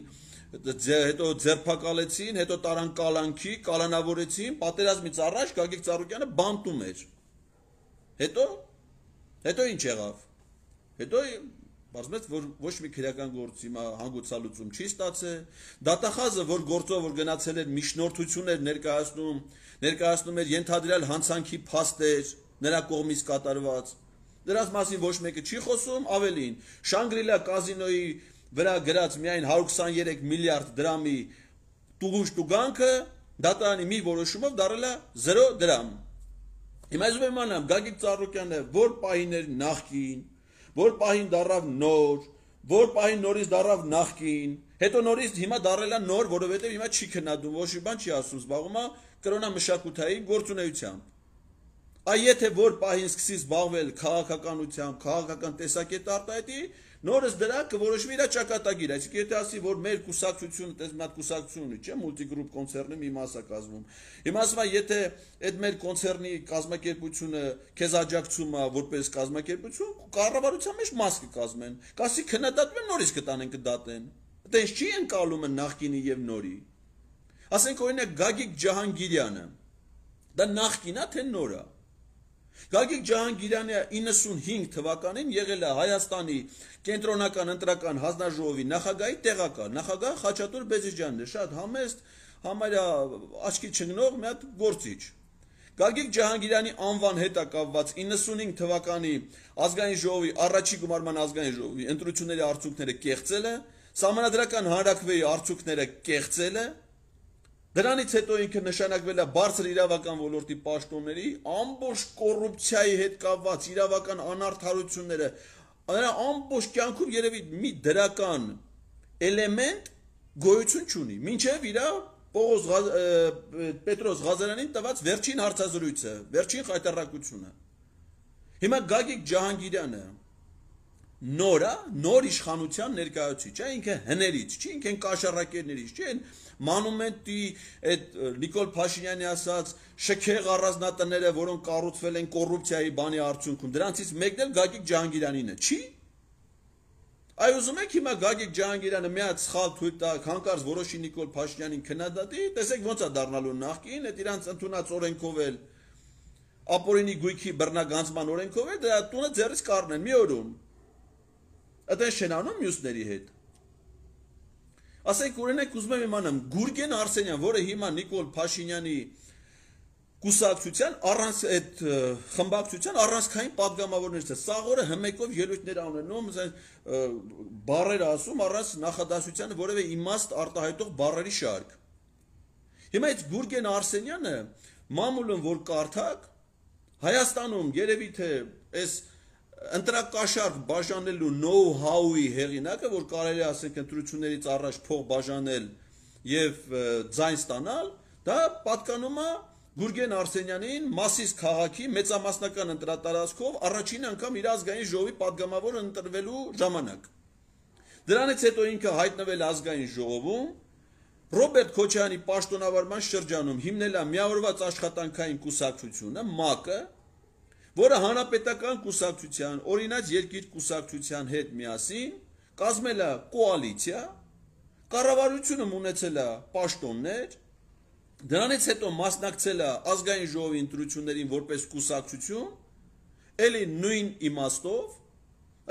հետո ձերբակալեցին, հետո տարան կալանքի, կալանավորեցին, պատերազմից առաջ Գագիկ Ծառուկյանը բանտում էր։ Հետո հետո ինչ եղավ։ Հետո Բարձրացած որ ոչ մի քրեական գործ հիմա հանգուցալուծում չի ստացել, դատախազը որ գործով որ գնացել էր միջնորդություններ ներկայացնում, ներկայացնում էր ենթադրյալ հանցանքի փաստեր նրա կողմից կատարված, դրանց մասին ոչ մեկը չի խոսում, ավելին, Շանգրիլա կազինոյի վրա գրած միայն հարյուր քսաներեք միլիարդ դրամի տուգուշ տուգանքը դատարանի մի որոշումով դարել է զերո դրամ։ Հիմա ես իմանամ Գագիկ Ծառուկյանը որ պահիներ նախքին, որ պահին դարավ նոր, որ պահին նորից դարավ նախքին, հետո նորից հիմա դարել է նոր, որովհետև հիմա չի քննադում, ոչ մի բան չի ասում, զբաղվում է կրոնամշակութային գործունեությամբ։ Այ եթե որ պահին սկսի զբաղվել քաղաքականությամբ, քաղաքական տեսակետ արտահայտի, նորից դրա կորոշվի իր ճակատագիր, այսինքն եթե ասի, որ մեր կուսակցությունը, տես մի հատ կուսակցություն ունի, չէ՞, մուլտիգրուպ կոնցեռնի մի մաս է կազմում։ Հիմա ասում է, եթե այդ մեր կոնցեռնի կազմակերպությունը քեզ աջակցում է որպես կազմակերպություն, կառավարության մեջ մաս կկազմեն, կասի քննադատում են նորից կտանեն կդատեն։ Այդպես չի ընկալումը նախկինի եւ նորի։ Ասենք օրինակ Գագիկ Ջահանգիրյանը, դա նախկին է թե նոր է։ Գագիկ Ջահանգիրյանը իննսունհինգ թվականին եղել է Հայաստանի կենտրոնական ընտրական հանձնաժողովի նախագահի տեղակալ, նախագահ Խաչատուր Բեզիջյանն է, շատ համեստ, համարյա աչքի չընկնող մի հատ գործիչ։ Գագիկ Ջահանգիրյանի անվան հետ է կապված իննսունհինգ թվականի ազգային ժողովի առաջի գումարման ազգային ժողովի ընտրությունների արդյունքները կեղծել է, Սահմանադրական հանրաքվեի արդյունքները կեղծել է, դրանից հետո ինքը նշանակվել է բարձր իրավական ոլորտի պաշտոնների, ամբողջ կոռուպցիայի հետ կապված իրավական անարդարությունները, նրա ամբողջ կյանքում երևի մի դրական էլեմենտ գոյություն չունի, մինչև իր Պողոս Պետրոս Ղազարյանին տված վերջին հարցազրույցը, վերջին խայտառակությունը։ Հիմա Գագիկ Ջահանգիրյանը նորա, նոր իշխանության ներկայացուցիչ, չէ, ինքը հներից, չի, ինքը կաշառակերներից, չէ, մանումենտի այդ Նիկոլ Փաշինյանի ասած շքեղ առանձնատները, որոնք կառուցվել են կոռուպցիայի բանի արդյունքում, դրանցից մեկն էլ Գագիկ Ջահանգիրյանին է, չի։ Այ ուզում եք հիմա Գագիկ Ջահանգիրյանը մի հատ սխալ թույլ տա, հանկարծ որոշի Նիկոլ Փաշինյանին քննադատի, տեսեք ոնց է դառնալու նախկին, այդ իրանց ընդունած օրենքով էլ ապօրինի գույքի բռնագանձման օրենքով էլ դրա տունը ձեռից կառնեն մի օրում։ Այդպես չեն անում մյուսների հետ։ Ասենք օրինակ ուզում եմ իմանամ Գուրգեն Արսենյան, որը հիմա Նիկոլ Փաշինյանի կուսակցության առանց այդ խմբակցության առանցքային падգամավորներից է, սաղորը հմեկով ելույթներ ունենում, բառեր ասում առանց նախադասության որևէ իմաստ արտահայտող բառերի շարք։ Հիմա այդ Գուրգեն Արսենյանը մամուլում որ կարդակ Հայաստանում երևի թե այս ընտրակաշարք բաժանելու know-how-ի հեղինակը, որ կարելի է ասենք ընտրություններից առաջ փող բաժանել եւ ձայն ստանալ, դա պատկանում է Գուրգեն Արսենյանին Մասիս քաղաքի մեծամասնական ընտրատարածքով առաջին անգամ իր ազգային ժողովի падգամավոր ընտրվելու ժամանակ։ Դրանից հետո ինքը հայտնվել ազգային ժողովում, Ռոբերտ Քոչարյանի պաշտոնավարման շրջանում հիմնել է միավորված աշխատանքային կուսակցությունը, ՄԱԿ-ը, որը հանրապետական կուսակցության, օրինաց երկիր կուսակցության հետ միասին կազմել է կոալիցիա, կառավարությունը ունեցել է պաշտոններ, դրանից հետո մասնակցել է ազգային ժողովի ընտրություններին որպես կուսակցություն, էլի նույն իմաստով,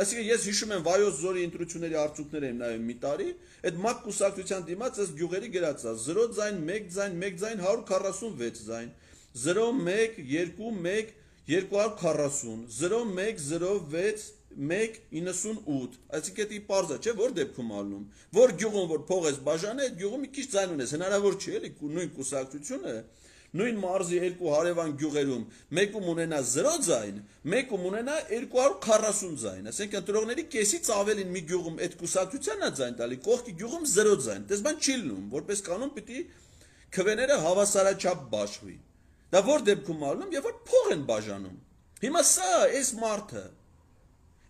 այսինքն ես հիշում եմ Վայոց Ձորի ընտրությունների արդյունքները եմ նայում մի տարի, այդ ՄԱԿ կուսակցության դիմաց այս գյուղերի գրած է զրո ձայն, մեկ ձայն, մեկ ձայն, հարյուր քառասունվեց ձայն, զրո մեկ, երկու, մեկ, երկու հարյուր քառասուն, զրո մեկ, զրո վեց, մեկ, իննսունութ, այսինքն դա պարզ է, չէ՞, որ դեպքում ալնում, որ գյուղում որ փող ես բաժանել, այդ գյուղում մի քիչ ձայն ունես, հնարավոր չի էլի նույն կուսակցությունը, նույն մարզի երկու հարևան գյուղերում մեկում ունենա զրո ձայն, մեկում ունենա երկու հարյուր քառասուն ձայն, այսինքն ընտրողների կեսից ավելին մի գյուղում այդ կուսակցությանն է ձայն տալի, կողքի գյուղում զրո ձայն, դες բան չի լինում, որպես կանոն պիտի քվեները հավասարաչափ բաշխվի։ Դա որ դեպքում ալնում, երբ որ փող են բաժանում։ Հիմա սա այս մարդը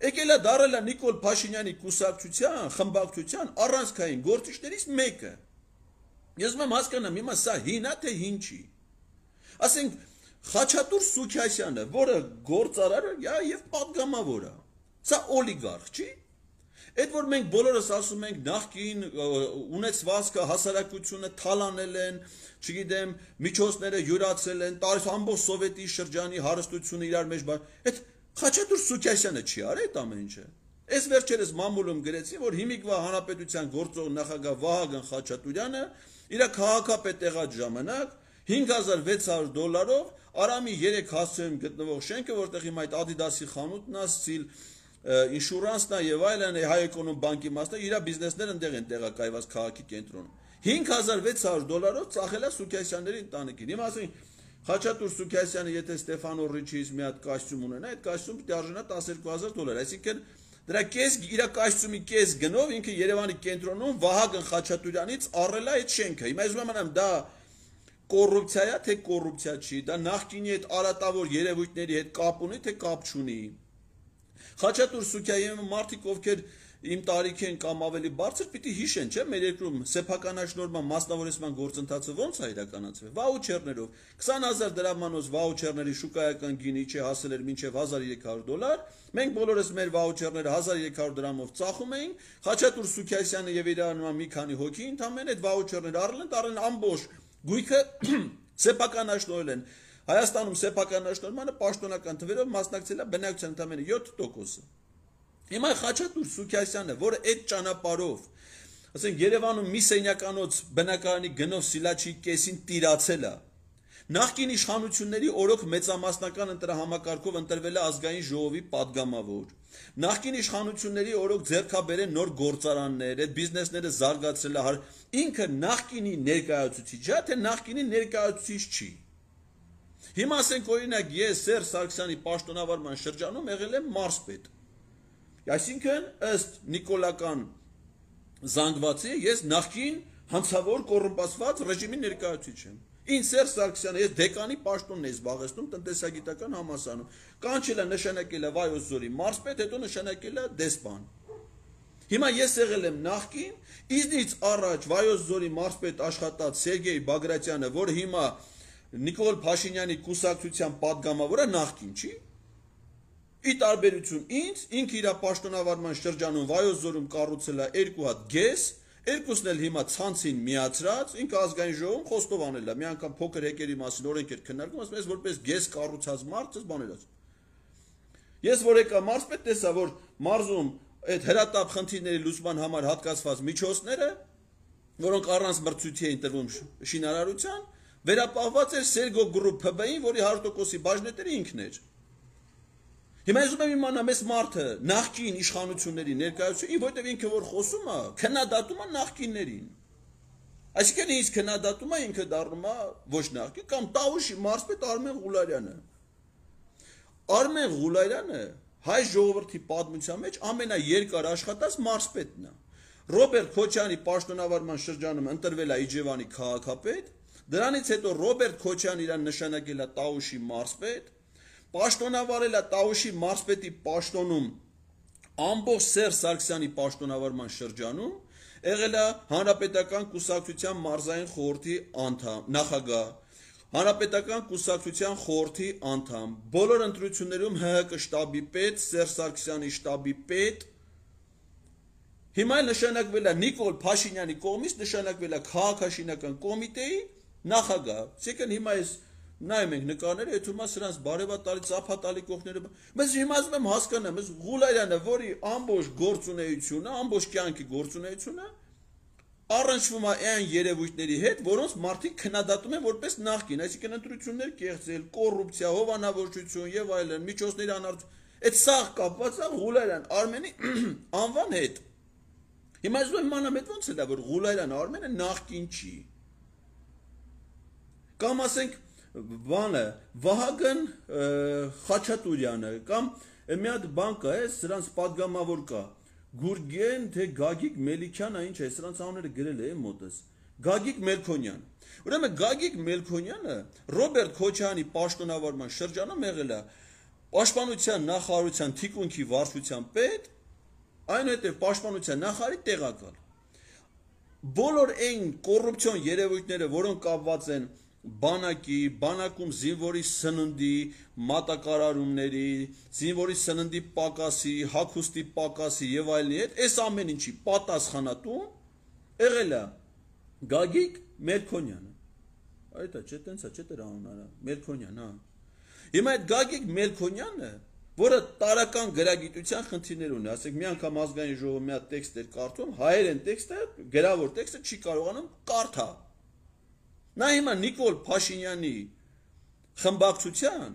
եկել է դարել է Նիկոլ Փաշինյանի կուսակցության, խմբակցության առանցքային գործիչներից մեկը։ Ես ում հասկանամ, հիմա սա հին է թե հին չի։ Ասենք Խաչատուր Սուքիասյանը, որը գործարար է եւ падգամավոր է։ Սա օլիգարխ չի։ Այդ որ մենք բոլորս ասում ենք նախկին ունեցվածքը հասարակությունը թալանել են, չգիտեմ, միջոցները յուրացել են, տարի ամբողջ սովետի շրջանի հարստությունը իրար մեջ բան։ Այդ Խաչատուր Սուքիասյանը չի արել այդ ամեն ինչը։ Այս վերջերս մամուլում գրեցին, որ հիմիկվա հանրապետության գործող նախագահ Վահագն Խաչատուրյանը իր քաղաքապետ եղած ժամանակ հինգ հազար վեց հարյուր դոլարով Արամի երեք հասցեում գտնվող շենքը, որտեղ հիմա այդ Adidas-ի խանութն է, Սիլ ինշուրանսն է եւ այլն, Հայ Էկոնոմ բանկի մասն է, իր բիզնեսները այնտեղ են տեղակայված քաղաքի կենտրոնում։ հինգ հազար վեց հարյուր դոլարով ծախել է Սուքիասյանների ընտանիքին։ Հիմա ասենք Խաչատուր Սուքիասյանը եթե Ստեփանո Ռիչից մի հատ կոստյում ունենա, այդ կոստյումը պիտի արժանա տասներկու հազար դոլար, այսինքն դրա կես իր կոստյումի կես գնով ինքը Երևանի կենտրոնում Վահագն Խաչատուրյանից առել է այդ շենքը։ Հիմա ես ուրեմն դա կոռուպցիա է, թե կոռուպցիա չի, դա նախկինի այդ արատավոր երևույթների հետ կապ ունի, թե կապ չունի։ Խաչատուր Սուքիասյանը մարդիկ ովքեր իմ տարիքի են կամ ավելի բարձր պիտի հիշեն, չէ՞, մեր երկրում սեփականաշնորհման մասնավորեցման գործընթացը ոնց է իրականացվել։ Վաուչերներով քսան հազար դրամանոց վաուչերների շուկայական գինի չէ հասել էր մինչև հազար երեք հարյուր դոլար։ Մենք բոլորս մեր վաուչերները հազար երեք հարյուր դրամով ծախում էինք։ Խաչատուր Սուքիասյանը եւ իր անունը մի քանի հոգի ընդամենը այդ վաուչերները առել են, տարել ամբողջ գույքը սեփականաշնորհել են։ Հայաստանում սեփականաշնորհմանը պաշտոնական թվերով մասնակցել է բնակչության ընդամենը յոթ տոկոսը։ Հիմա Խաչատուր Սուքիասյանը, որը այդ ճանապարհով, ասենք Երևանում մի սենյականոց բնակարանի գնով Սիլաչի կեսին տիրացել է, նախկին իշխանությունների օրոք մեծամասնական ընտրահամակարգով ընտրվել է ազգային ժողովի падգամավոր, նախկին իշխանությունների օրոք ձեռքաբերեն նոր գործարաններ, այդ բիզնեսները զարգացրել է, ինքը նախկինի ներկայացուցիչ է, թե նախկինի ներկայացուցիչ չի։ Հիմա ասենք օրինակ ես Սերժ Սարգսյանի պաշտոնավարման շրջանում եղել եմ մարզպետ։ Այսինքն ըստ նիկոլական զանգվածի ես նախկին հանցավոր կոռումպացված ռեժիմի ներկայացուցիչ եմ։ Ինձ Սերժ Սարգսյանը ես դեկանի պաշտոնն եմ զբաղեցնում տնտեսագիտական համալսարանում։ Կանչել է նշանակել է Վայոց ձորի մարզպետ, հետո նշանակել է դեսպան։ Հիմա ես եղել եմ նախկին, իznից առաջ Վայոց ձորի մարզպետ աշխատած Սերգեյ Բագրատյանը, որը հիմա Նիկոլ Փաշինյանի կուսակցության падգամավորը նախկին չի։ Ի տարբերություն ինձ, ինքը իր պաշտոնավարման շրջանում Վայոց ձորում կառուցել է երկու հատ գես, երկուսն էլ հիմա ցանցին միացրած, ինքը ազգային ժողովում խոստովանել է, մի անգամ փոքր հեկերի մասին օրենք էր քննարկում, ասում ես որպես գես կառուցած մարդ, ես բաներ ասում։ Ես որ եկա մարզպետ, տեսա, որ մարզում այդ հրատապ խնդիրների լուծման համար հատկացված միջոցները, որոնք առանց մրցույթի էին տրվում շինարարության, վերապահված էր Սերգո Գրուպ Փ B-ին, որի հարյուր տոկոսի բաժնետերը ինքն էր։ Հիմա ես ուզում եմ իմանամ այս մարդը նախկին իշխանությունների ներկայացուցիչ, որտեղ ինքը որ խոսում է, քննադատում է նախկիններին։ Այսինքն ինձ քննադատում է, ինքը դառնում է ոչ նախկին, կամ Տավուշի մարզպետ Արմեն Ղուլարյանը։ Արմեն Ղուլարյանը հայ ժողովրդի պատմության մեջ ամենաերկար աշխատած մարզպետն է։ Ռոբերտ Քոչյանի պաշտոնավարման շրջանում ընտրվել է Իջևանի քաղաքապետ, դրանից հետո Ռոբերտ Քոչյանն իրան նշանակել է Տավուշի մարզպետ, պաշտոնավարել է Տավուշի մարզպետի պաշտոնում ամբողջ Սերժ Սարգսյանի պաշտոնավարման շրջանում, եղել է Հանրապետական կուսակցության մարզային խորհրդի անդամ, նախագահ, Հանրապետական կուսակցության խորհրդի անդամ, բոլոր ընտրություններում Հ Հ Կ շտաբի պետ, Սերժ Սարգսյանի շտաբի պետ, հիմա նշանակվել է Նիկոլ Փաշինյանի կողմից նշանակվել է քաղաքաշինական կոմիտեի նախագահ, այսինքն հիմա այս նայում ենք նկարները, եթե հիմա սրանց բարևատալի, ծափատալի կողմները, բայց հիմա ասում եմ հասկանամ, այս Ղուլարյանը, որի ամբողջ գործունեությունը, ամբողջ կյանքի գործունեությունը առնչվում է այն երևույթների հետ, որոնց մարդիկ քննադատում են որպես նախկին, այսինքն ընտրություններ կեղծել, կոռուպցիա, հովանավորչություն եւ այլն, միջոցների անարդարություն, այդ սաղ կապված է Ղուլարյան Արմենի անվան հետ։ Հիմա ասում եմ իմանամ այդ ոնց է դա, որ Ղուլարյան Արմենը նախկին չի։ Կամ ասենք բանը Վահագն Խաչատուրյանը կամ մի հատ բան կա, է, սրանց падգամավոր կա, Գուրգեն թե Գագիկ Մելիքյանը, ինչ է, սրանց անունները գրել է մոտս, Գագիկ Մելքոնյան։ Ուրեմն Գագիկ Մելքոնյանը Ռոբերտ Քոչյանի պաշտոնավարման շրջանում եղել է պաշտպանության նախարարության թիկունքի վարչության պետ, այնուհետև պաշտպանության նախարարի տեղակալ։ Բոլոր այն կոռուպցիոն երևույթները, որոնք կապված են բանակի, բանակում զինվորի սննդի, մատակարարումների, զինվորի սննդի պակասի, հագուստի պակասի եւ այլնի հետ, այս ամեն ինչի պատասխանատու եղել է Գագիկ Մելքոնյանը։ Այդ է, չէ, տենց է, չէ, դրա անունը Մելքոնյան, հա։ Հիմա այդ Գագիկ Մելքոնյանը որը տարական գրագիտության խնդիրներ ունի, ասենք մի անգամ ազգային ժողովը մի հատ տեքստ էր կարդում, հայերեն տեքստը, գրավոր տեքստը չի կարողանում կարդա։ Նա հիմա Նիկոլ Փաշինյանի խմբակցության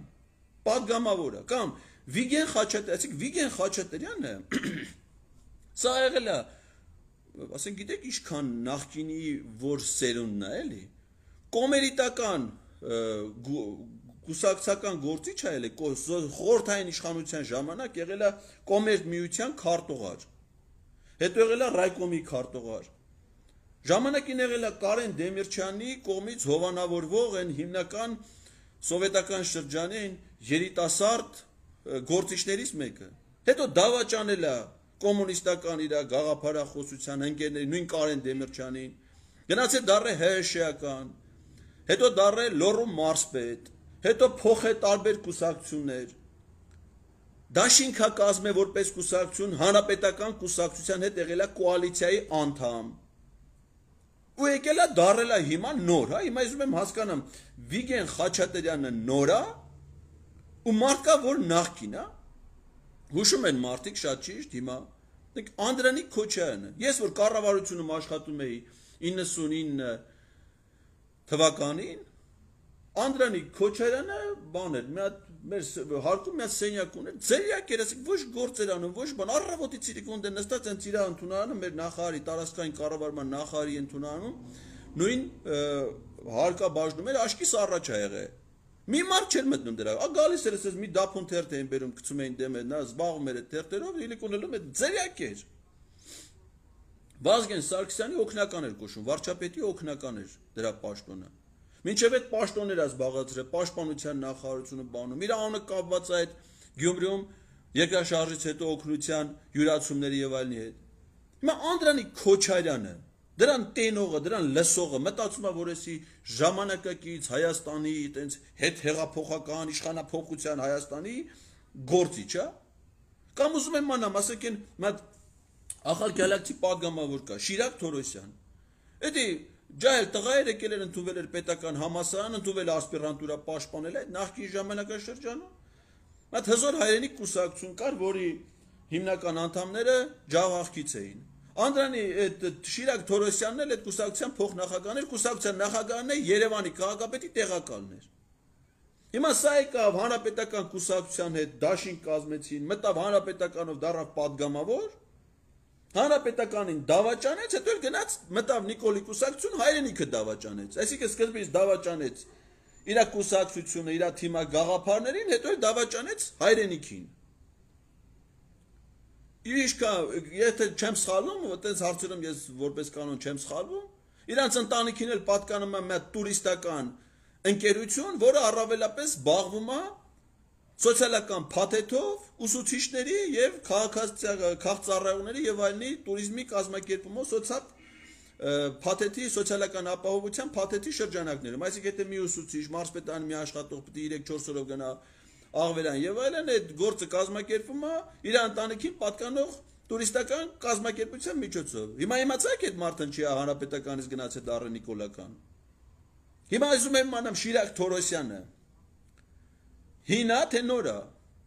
պատգամավորը կամ Վիգեն Խաչատրյանը, ասենք Վիգեն Խաչատրյանը սա եղել է, ասենք գիտեք ինչքան նախկինի որ սերունդն է, էլի, կոմերիտական կուսակցական գործիչ է եղել, խորհրդային իշխանության ժամանակ եղել է կոմերտ միության քարտուղար, հետո եղել է ռայկոմի քարտուղար, ժամանակին եղել է Կարեն Դեմիրճյանի կողմից հովանավորվող են հիմնական սովետական շրջանին երիտասարդ գործիչներից մեկը, հետո դավաճանել է կոմունիստական իր գաղափարախոսության ընկերների, նույն Կարեն Դեմիրճյանին, գնացել դառել ՀՀՇ-ական, հետո դառել լոռու մարզպետ, հետո փոխել տարբեր կուսակցություններ, դաշինքա կազմել որպես կուսակցություն, հանրապետական կուսակցության հետ եղել է կոալիցիայի անդամ, ու եկել է դառել է հիմա նոր, հա, հիմա ուզում եմ հասկանամ, Վիգեն Խաչատրյանը նոր է, ու մարդկա որ նախկին է, հուշում են մարդիկ շատ ճիշտ հիմա, Անդրանիկ Քոչարյանը, ես որ կառավարությունում աշխատում էի իննսունինը թվականին, Անդրանիկ Քոչարյանը բան էր, մի հատ մեր հարկում մի հատ սենյակ ուներ, ձերյակ էր, ասեք, ոչ գործեր անում, ոչ բան, առավոտի ցիրիկոն դե նստած են ծիրա ընդունանում, մեր նախարարի տարածքային կառավարման նախարարի ընդունանում, նույն հարկաբաժնում էր, աշկիս առաջ ա եղել։ Մի մարդ չէր մտնում դրա, ա գալիս էր ասես մի դափուն թերթ էին բերում, գցում էին դեմը, նա զբաղվում էր այդ թերթերով, իլիկունելում այդ ձերյակ էր։ Վազգեն Սարգսյանի օգնական էր կոչվում, վարչապետի օգնական էր դրա պաշտոնը։ Մինչև այդ պաշտոնները զբաղացրել, պաշտպանության նախարարությունը բանում, իր անունը կապված է այդ Գյումրիում երկրաշարժից հետո օգնության յուրացումների եւ այլնի հետ։ Հիմա Անդրանիկ Քոչարյանը դրան տենողը, դրան լսողը մտածում է, որ էսի ժամանակակից Հայաստանի այտենց հետ հեղափոխական իշխանափոխության Հայաստանի գործիչ է։ Կամ ուզում եմ մանամ, ասեք են մատ ախալ գալակտի պատգամավոր կա, Շիրակ Թորոսյան։ Էդի ջահել տղայր եկել էր ընդունել էր պետական համալսարան, ընդունել ասպիրանտուրա պաշտպանել այդ նախկին ժամանակաշրջանում։ Մատ հզոր հայրենիք կուսակցություն կար, որի հիմնական անդամները ջավախքից էին։ Անդրանի այդ Շիրակ Թորոսյանն էլ այդ կուսակցության փոխնախագահն էր, կուսակցության նախագահն է Երևանի քաղաքապետի տեղակալն էր։ Հիմա սա եկավ հանրապետական կուսակցության հետ դաշինք կազմեցին, մտավ հանրապետականով դառավ պատգամավոր, հանրապետականին դավաճանեց, հետո էլ գնաց մտավ Նիկոլի կուսակցություն, հայրենիքը դավաճանեց։ Այսինքն սկզբից դավաճանեց իր կուսակցությունը, իր թիմա գաղափարներին, հետո էլ դավաճանեց հայրենիքին։ Իրիշկա, եթե չեմ սխալվում, այտենց հարցերում ես որպես կանոն չեմ սխալվում, իրանց ընտանիքին էլ պատկանում է մի տուրիստական ընկերություն, որը առավելապես զբաղվում է սոցիալական փաթեթով, ուսուցիչների եւ քաղաքացիների եւ այլնի տուրիզմի կազմակերպումով սոցիալ փաթեթի սոցիալական ապահովության փաթեթի շրջանակներում, այսինքն եթե մի ուսուցիչ, մարզպետան մի աշխատող պետք է երեք-չորս օրով գնա աղվերան եւ այլն, այդ գործը կազմակերպում է իր ընտանիքին պատկանող տուրիստական կազմակերպության միջոցով։ Հիմա իմացաք այդ մարդն չի հանրապետականից գնացել դառը Նիկոլական։ Հիմա ասում եմ մանամ Շիրակ Թորոսյանը հինա թե նորա։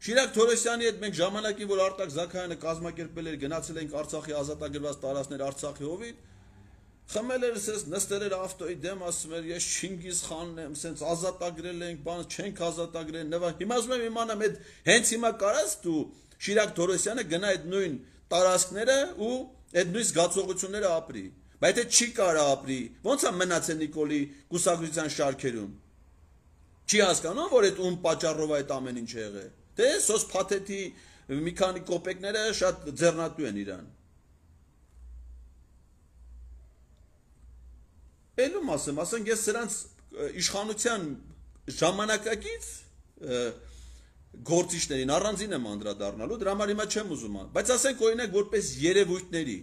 Շիրակ Թորոսյանի հետ մենք ժամանակին, որ Արտակ Զաքարյանը կազմակերպել էր, գնացել ենք Արցախի ազատագրված տարածքներ Արցախի հովիտ, խմել էր, ասես նստել էր ավտոյի դեմ, ասում էր ես Չինգիզ խանն եմ, ասենց ազատագրել ենք, բան չենք ազատագրել, նվա։ Հիմա ասում եմ իմանամ այդ հենց հիմա կարած դու Շիրակ Թորոսյանը գնա այդ նույն տարածքները ու այդ նույն զգացողությունները ապրի։ Բայց եթե չի կարա ապրի, ո՞նց է մնացել Նիկոլի կուսակցության շարքերում։ Չի հասկանում, որ այդ ում պատճառով այդ ամեն ինչ եղել։ Դե սոս փաթեթի մի քանի կոպեկները շատ ձեռնատու են իրան։ Էլում ասեմ, ասենք ես սրանց իշխանության ժամանակակից գործիչներին առանձին եմ անդրադառնալու, դրա համար հիմա չեմ ուզում, բայց ասենք օրինակ որպես երևույթների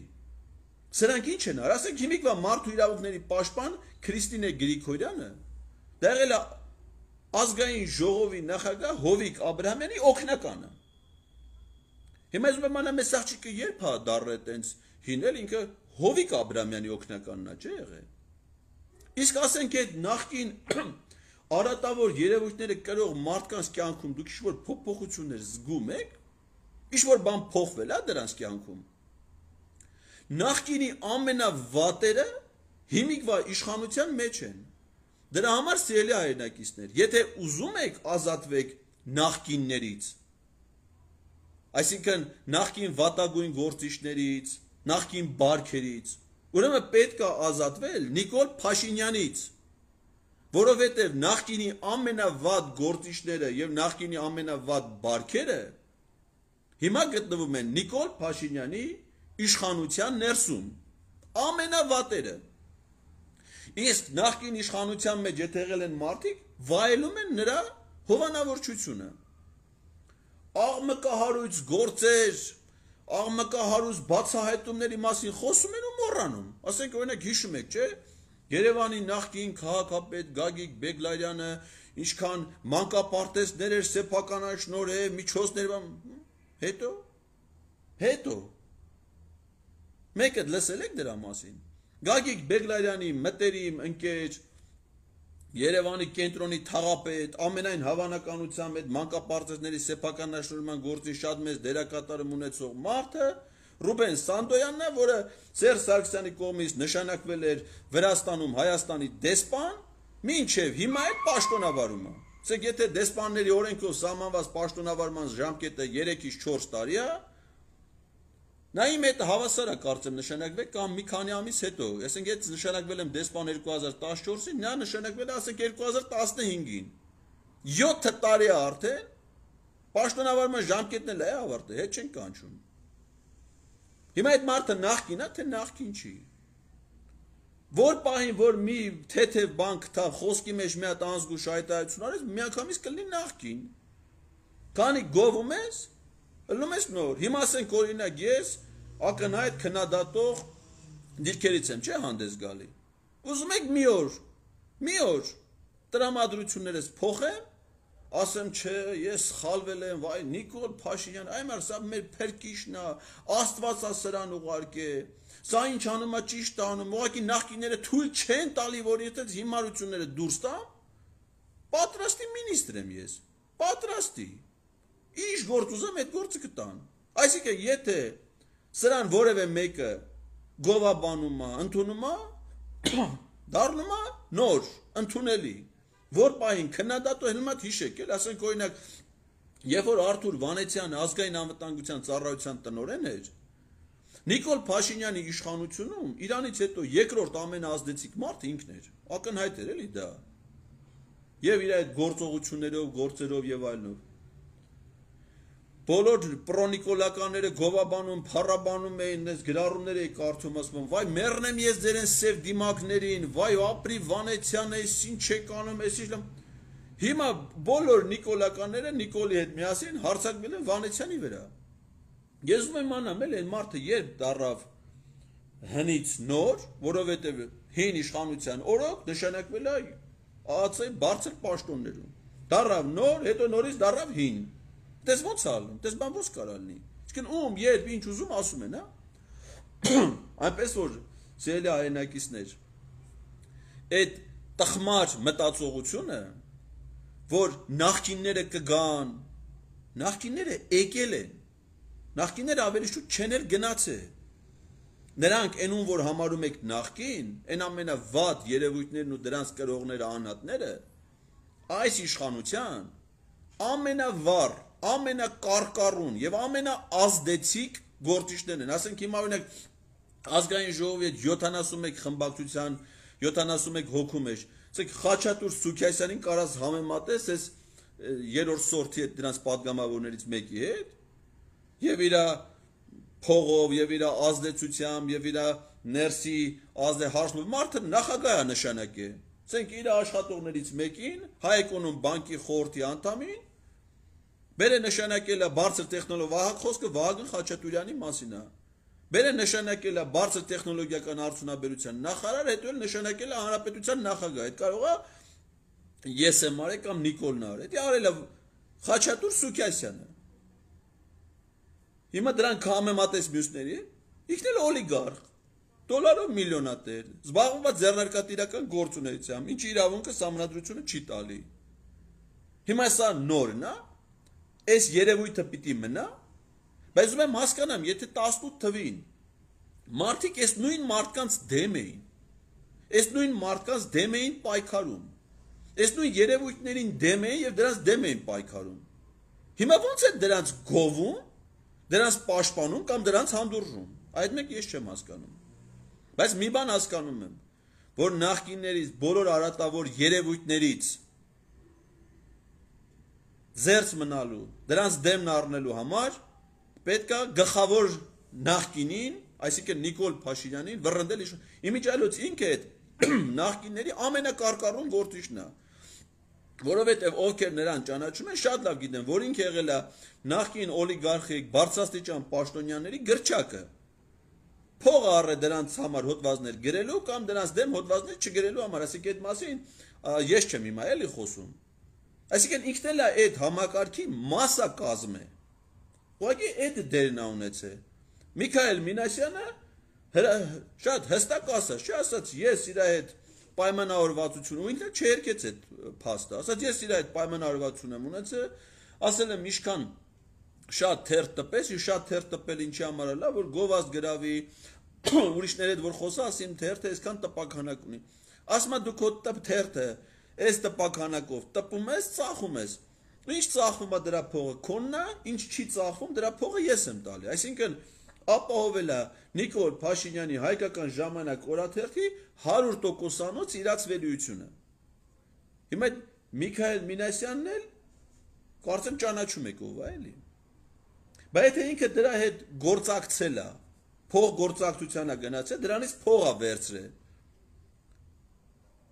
սրանք ինչ են արել, ասենք հիմիկվա մարդու իրավունքների պաշտպան Քրիստինե Գրիգորյանը դա եղել է ազգային ժողովի նախագահ Հովիկ Աբրահամյանի օգնականը։ Հիմա ես մանամ այս աղջիկը երբ է դառը այտենց հինել, ինքը Հովիկ Աբրահամյանի օգնականն է, չէ՞ եղել։ Իսկ ասենք այդ նախկին արատավոր երևույթները կրող մարդկանց կյանքում դուք ինչ-որ փոփոխություններ զգում եք, ինչ-որ բան փոխվել է դրանց կյանքում։ Նախկինի ամենավատերը հիմիկվա իշխանության մեջ են։ Դրա համար սիրելի հայրենակիցներ, եթե ուզում եք ազատվեք նախկիններից, այսինքն նախկին վատագույն գործիչներից, նախկին բարքերից, ուրեմն պետք է ազատվել Նիկոլ Փաշինյանից, որովհետև նախկինի ամենավատ գործիչները եւ նախկինի ամենավատ բարքերը հիմա գտնվում են Նիկոլ Փաշինյանի իշխանության ներսում, ամենավատերը։ Իսկ նախկին իշխանության մեջ եթե եղել են մարդիկ, վայելում են նրա հովանավորչությունը։ Աղմկահարույց գործեր, աղմկահարույց բացահայտումների մասին խոսում են ու մոռանում։ Ասենք օրինակ հիշում եք, չէ՞, Երևանի նախկին քաղաքապետ Գագիկ Բեգլարյանը ինչքան մանկապարտեզներ էր սեփականաշնորհել, միջոցներ, հետո հետո մեկը լսել եք դրա մասին։ Գագիկ Բեգլարյանի մտերիմ ընկեր, Երևանի կենտրոնի թաղապետ, ամենայն հավանականությամբ այդ մանկապարտեզների սեփականաշնորհման գործի շատ մեծ դերակատարում ունեցող մարդը Ռուբեն Սանդոյանն է, որը Սերժ Սարգսյանի կողմից նշանակվել էր Վրաստանում Հայաստանի դեսպան, մինչև հիմա այդ պաշտոնավարումը։ Ասեք, եթե դեսպանների օրենքով սահմանված պաշտոնավարման ժամկետը երեքից չորս տարի է, նա իմ հետ հավասար է կարծեմ նշանակվել կամ մի քանի ամիս հետո։ Ասենք, ես նշանակվել եմ դեսպան երկու հազար տասնչորսին, նա նշանակվել է ասենք երկու հազար տասնհինգին։ յոթ տարի է արդեն, պաշտոնավարման ժամկետն էլ է ավարտել, հետ չեն կանչում։ Հիմա այդ մարդը նախկին է, թե նախկին չի։ Որ պահին, որ մի թեթև բան կտավ, խոսքի մեջ մի հատ անզգուշ հայտարարություն արես, միանգամից կլինի նախկին։ Քանի գովում ես, ելնում ես նոր։ Հիմա ասենք օրինակ ես ակնհայտ քննադատող դիրքերից եմ, չէ՞ հանդես գալի։ Ուզում եք մի օր, մի օր տրամադրություններս փոխեմ, ասեմ չէ, ես սխալվել եմ, վայ Նիկոլ Փաշինյան, այ մար սա մեր փրկիչն է, Աստված է սրան ուղարկե։ Սա ինչ անում է, ճիշտ անում, ուղղակի նախկինները թույլ չեն տալի, որ եթե հիմարությունները դուրս տամ, պատրաստի մինիստր եմ ես, պատրաստի։ Ինչ գործ ուզեմ, այդ գործը կտան։ Այսինքն, եթե սրան որևէ մեկը գովաբանում է, ընդունում է, դառնում է նոր, ընդունելի։ Որ պահին քննադատը հենց հիշեք, էլ ասենք օրինակ, երբ որ Արթուր Վանեցյանը ազգային անվտանգության ծառայության տնօրեն էր, Նիկոլ Փաշինյանի իշխանությունում Իրանից հետո երկրորդ ամենաազդեցիկ մարդը ինքն էր, ակնհայտ էր էլի դա։ Եվ իր այդ գործողություններով, գործերով եւ այլնով։ Բոլոր պրոնիկոլականները գովաբանում, փառաբանում էին, այս գրառումներ էի կարդում, ասում, վայ մեռնեմ ես ձեր են սև դիմակներին, վայ ապրի Վանեցյանը, այս ինչ եք անում, այս ինչ։ Հիմա բոլոր նիկոլականները Նիկոլի հետ միասին հարձակվել են Վանեցյանի վրա։ Ես ուզում եմ իմանամ, էլ այն մարդը երբ դառավ հնից նոր, որովհետև հին իշխանության օրոք նշանակվել է ԱԱՑ-ի բարձր պաշտոններում։ Դառավ նոր, հետո նորից դառավ հին։ Դες ոնց ալնում, դες բան ոնց կարա լինի։ Իսկն ում երբ ինչ ուզում ասում են, հա։ Այնպես որ սիրելի հայրենակիցներ, այդ տխմար մտածողությունը, որ նախկինները կգան, նախկինները եկել են, նախկինները ավելի շուտ չեն էլ գնացել։ Նրանք այնուն որ համարում եք նախկին, այն ամենավատ երևույթներն ու դրանց կրողները անհատները, այս իշխանության ամենավառ, ամենակարկառուն եւ ամենաազդեցիկ գործիչներն են։ Ասենք հիմա օրինակ ազգային ժողովի հետ յոթանասունմեկ խմբակցության յոթանասունմեկ հոգու մեջ, ասենք Խաչատուր Սուքիասյանին կարած համեմատես այս երրորդ սորթի հետ դրանց պատգամավորներից մեկի հետ եւ իր փողով եւ իր ազդեցությամբ եւ իր ներսի ազդեհարշնով մարդը նախագահ է նշանակել։ Ասենք իր աշխատողներից մեկին Հայ-Էկոնոմ բանկի խորհրդի անդամին բերե նշանակել է բարձր տեխնոլոգիա Վահագն խոսքը Վահագն Խաչատուրյանի մասին է։ Բերե նշանակել է բարձր տեխնոլոգիական արդյունաբերության նախարար, հետո էլ նշանակել է հանրապետության նախագահ։ Այդ կարող է ես եմ արել կամ Նիկոլն արել։ Դա արել է Խաչատուր Սուքիասյանը։ Հիմա դրանք համեմատես մյուսների, ինքն էլ օլիգարխ։ դոլարով միլիոնատեր, զբաղվում է ձեռնարկատիրական գործունեությամբ, ինչ իրավունքը սահմանադրությունը չի տալի։ Հիմա սա նորն է, այս երևույթը պիտի մնա, բայց ուզում եմ հասկանամ, եթե տասնութ թվին մարդիկ այս նույն մարդկանց դեմ էին, այս նույն մարդկանց դեմ էին պայքարում, այս նույն երևույթներին դեմ էին եւ դրանց դեմ էին պայքարում։ Հիմա ո՞նց է դրանց գովում, դրանց պաշտպանում կամ դրանց հանդուրժում։ Այդ մեկ ես չեմ հասկանում։ Բայց մի բան հասկանում եմ, որ նախկիններից բոլոր արատավոր երևույթներից զերծ մնալու, դրանց դեմն առնելու համար պետք է գլխավոր նախկինին, այսինքն Նիկոլ Փաշինյանին վռնդել իմիջիալոց ինքը այդ նախկինների ամենակարկառուն գործիչն է, որովհետև ովքեր նրան ճանաչում են, շատ լավ գիտեն, որ ինքը եղել է նախկին օլիգարխիկ բարձրաստիճան պաշտոնյաների գրչակը, փողը առել դրանց համար հոդվածներ գրելու կամ դրանց դեմ հոդվածներ չգրելու համար, այսինքն այդ մասին ես չեմ հիմա էլի խոսում։ Այսինքն ինքն էլ է այդ համակարգի մասնակազմ է։ Ուղղակի այդ դերն է ունեցել։ Միքայել Մինասյանը շատ հստակ ասաց, չի ասաց ես իր այդ պայմանավորվածություն ու ինքը չերկեց այդ փաստը, ասաց ես իր այդ պայմանավորվածություն եմ ունեցել, ասել եմ ինչքան շատ թերթ տպես, ու շատ թերթ տպել ինչի համար է, որ գովազդ գրավի, ուրիշների հետ որ խոսա, ասի իմ թերթը այսքան տպականակ ունի։ Ասում է դու քո թերթը այս տպականակով տպում ես, ծախում ես։ Ինչ ծախվում է դրա փողը քոնն է, ինչ չի ծախվում, դրա փողը ես եմ տալի։ Այսինքն ապահովել է Նիկոլ Փաշինյանի հայկական ժամանակ օրաթերթի հարյուր տոկոսանոց իրացվելիությունը։ Հիմա Միքայել Մինասյանն էլ կարծեմ ճանաչում եք ով է, էլի։ Բայց եթե ինքը դրա հետ գործակցել է, փող գործակցության է գնացել, դրանից փող է վերցրել։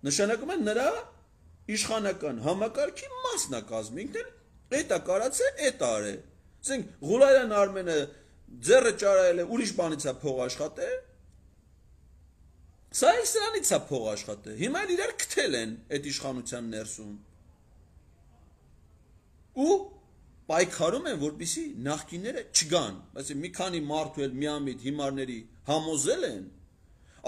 Նշանակում է նրա իշխանական համակարգի մասնակազմ, ինքն էլ էդ է կարացել, էդ արել։ Ասենք Ղուլարյան Արմենը ձեռը ճարայել է, ուրիշ բանից է փող աշխատել։ Սա էլ սրանից է փող աշխատել։ Հիմա էլ իրար քթել են այդ իշխանության ներսում։ Ու պայքարում են, որպեսզի նախկինները չգան, այսինքն մի քանի մարդու էլ միամիտ հիմարների համոզել են,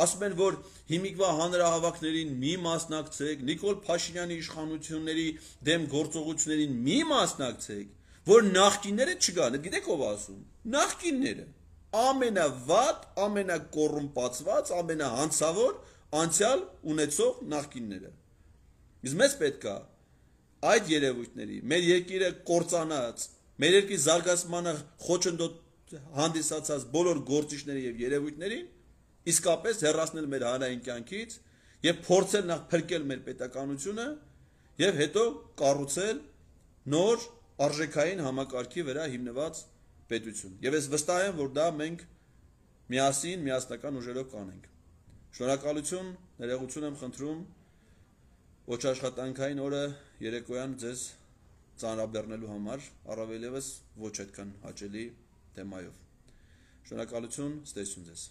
ասում են, որ հիմիկվա հանրահավաքներին մի մասնակցեք, Նիկոլ Փաշինյանի իշխանությունների դեմ գործողություններին մի մասնակցեք, որ նախկինները չգան, գիտեք ով ասում, նախկինները, ամենավատ, ամենակոռումպացված, ամենահանցավոր անցյալ ունեցող նախկինները։ Իսկ մեզ պետք է այդ երևույթների, մեր երկիրը կործանած, մեր երկրի զարգացմանը խոչընդոտ հանդիսացած բոլոր գործիչների եւ երևույթներին իսկապես հեռացնել մեր հանրային կյանքից եւ փորձել նախ փրկել մեր պետականությունը եւ հետո կառուցել նոր արժեքային համակարգի վրա հիմնված պետություն։ Եվ ես վստահ եմ, որ դա մենք միասին, միասնական ուժերով կանենք։ Շնորհակալություն, ներողություն եմ խնդրում ոչ աշխատանքային օրը երեկոյան ձեզ ծանրաբեռնելու համար, առավել ևս ոչ այդքան հաճելի թեմայով։ Շնորհակալություն, ստեսություն ձեզ։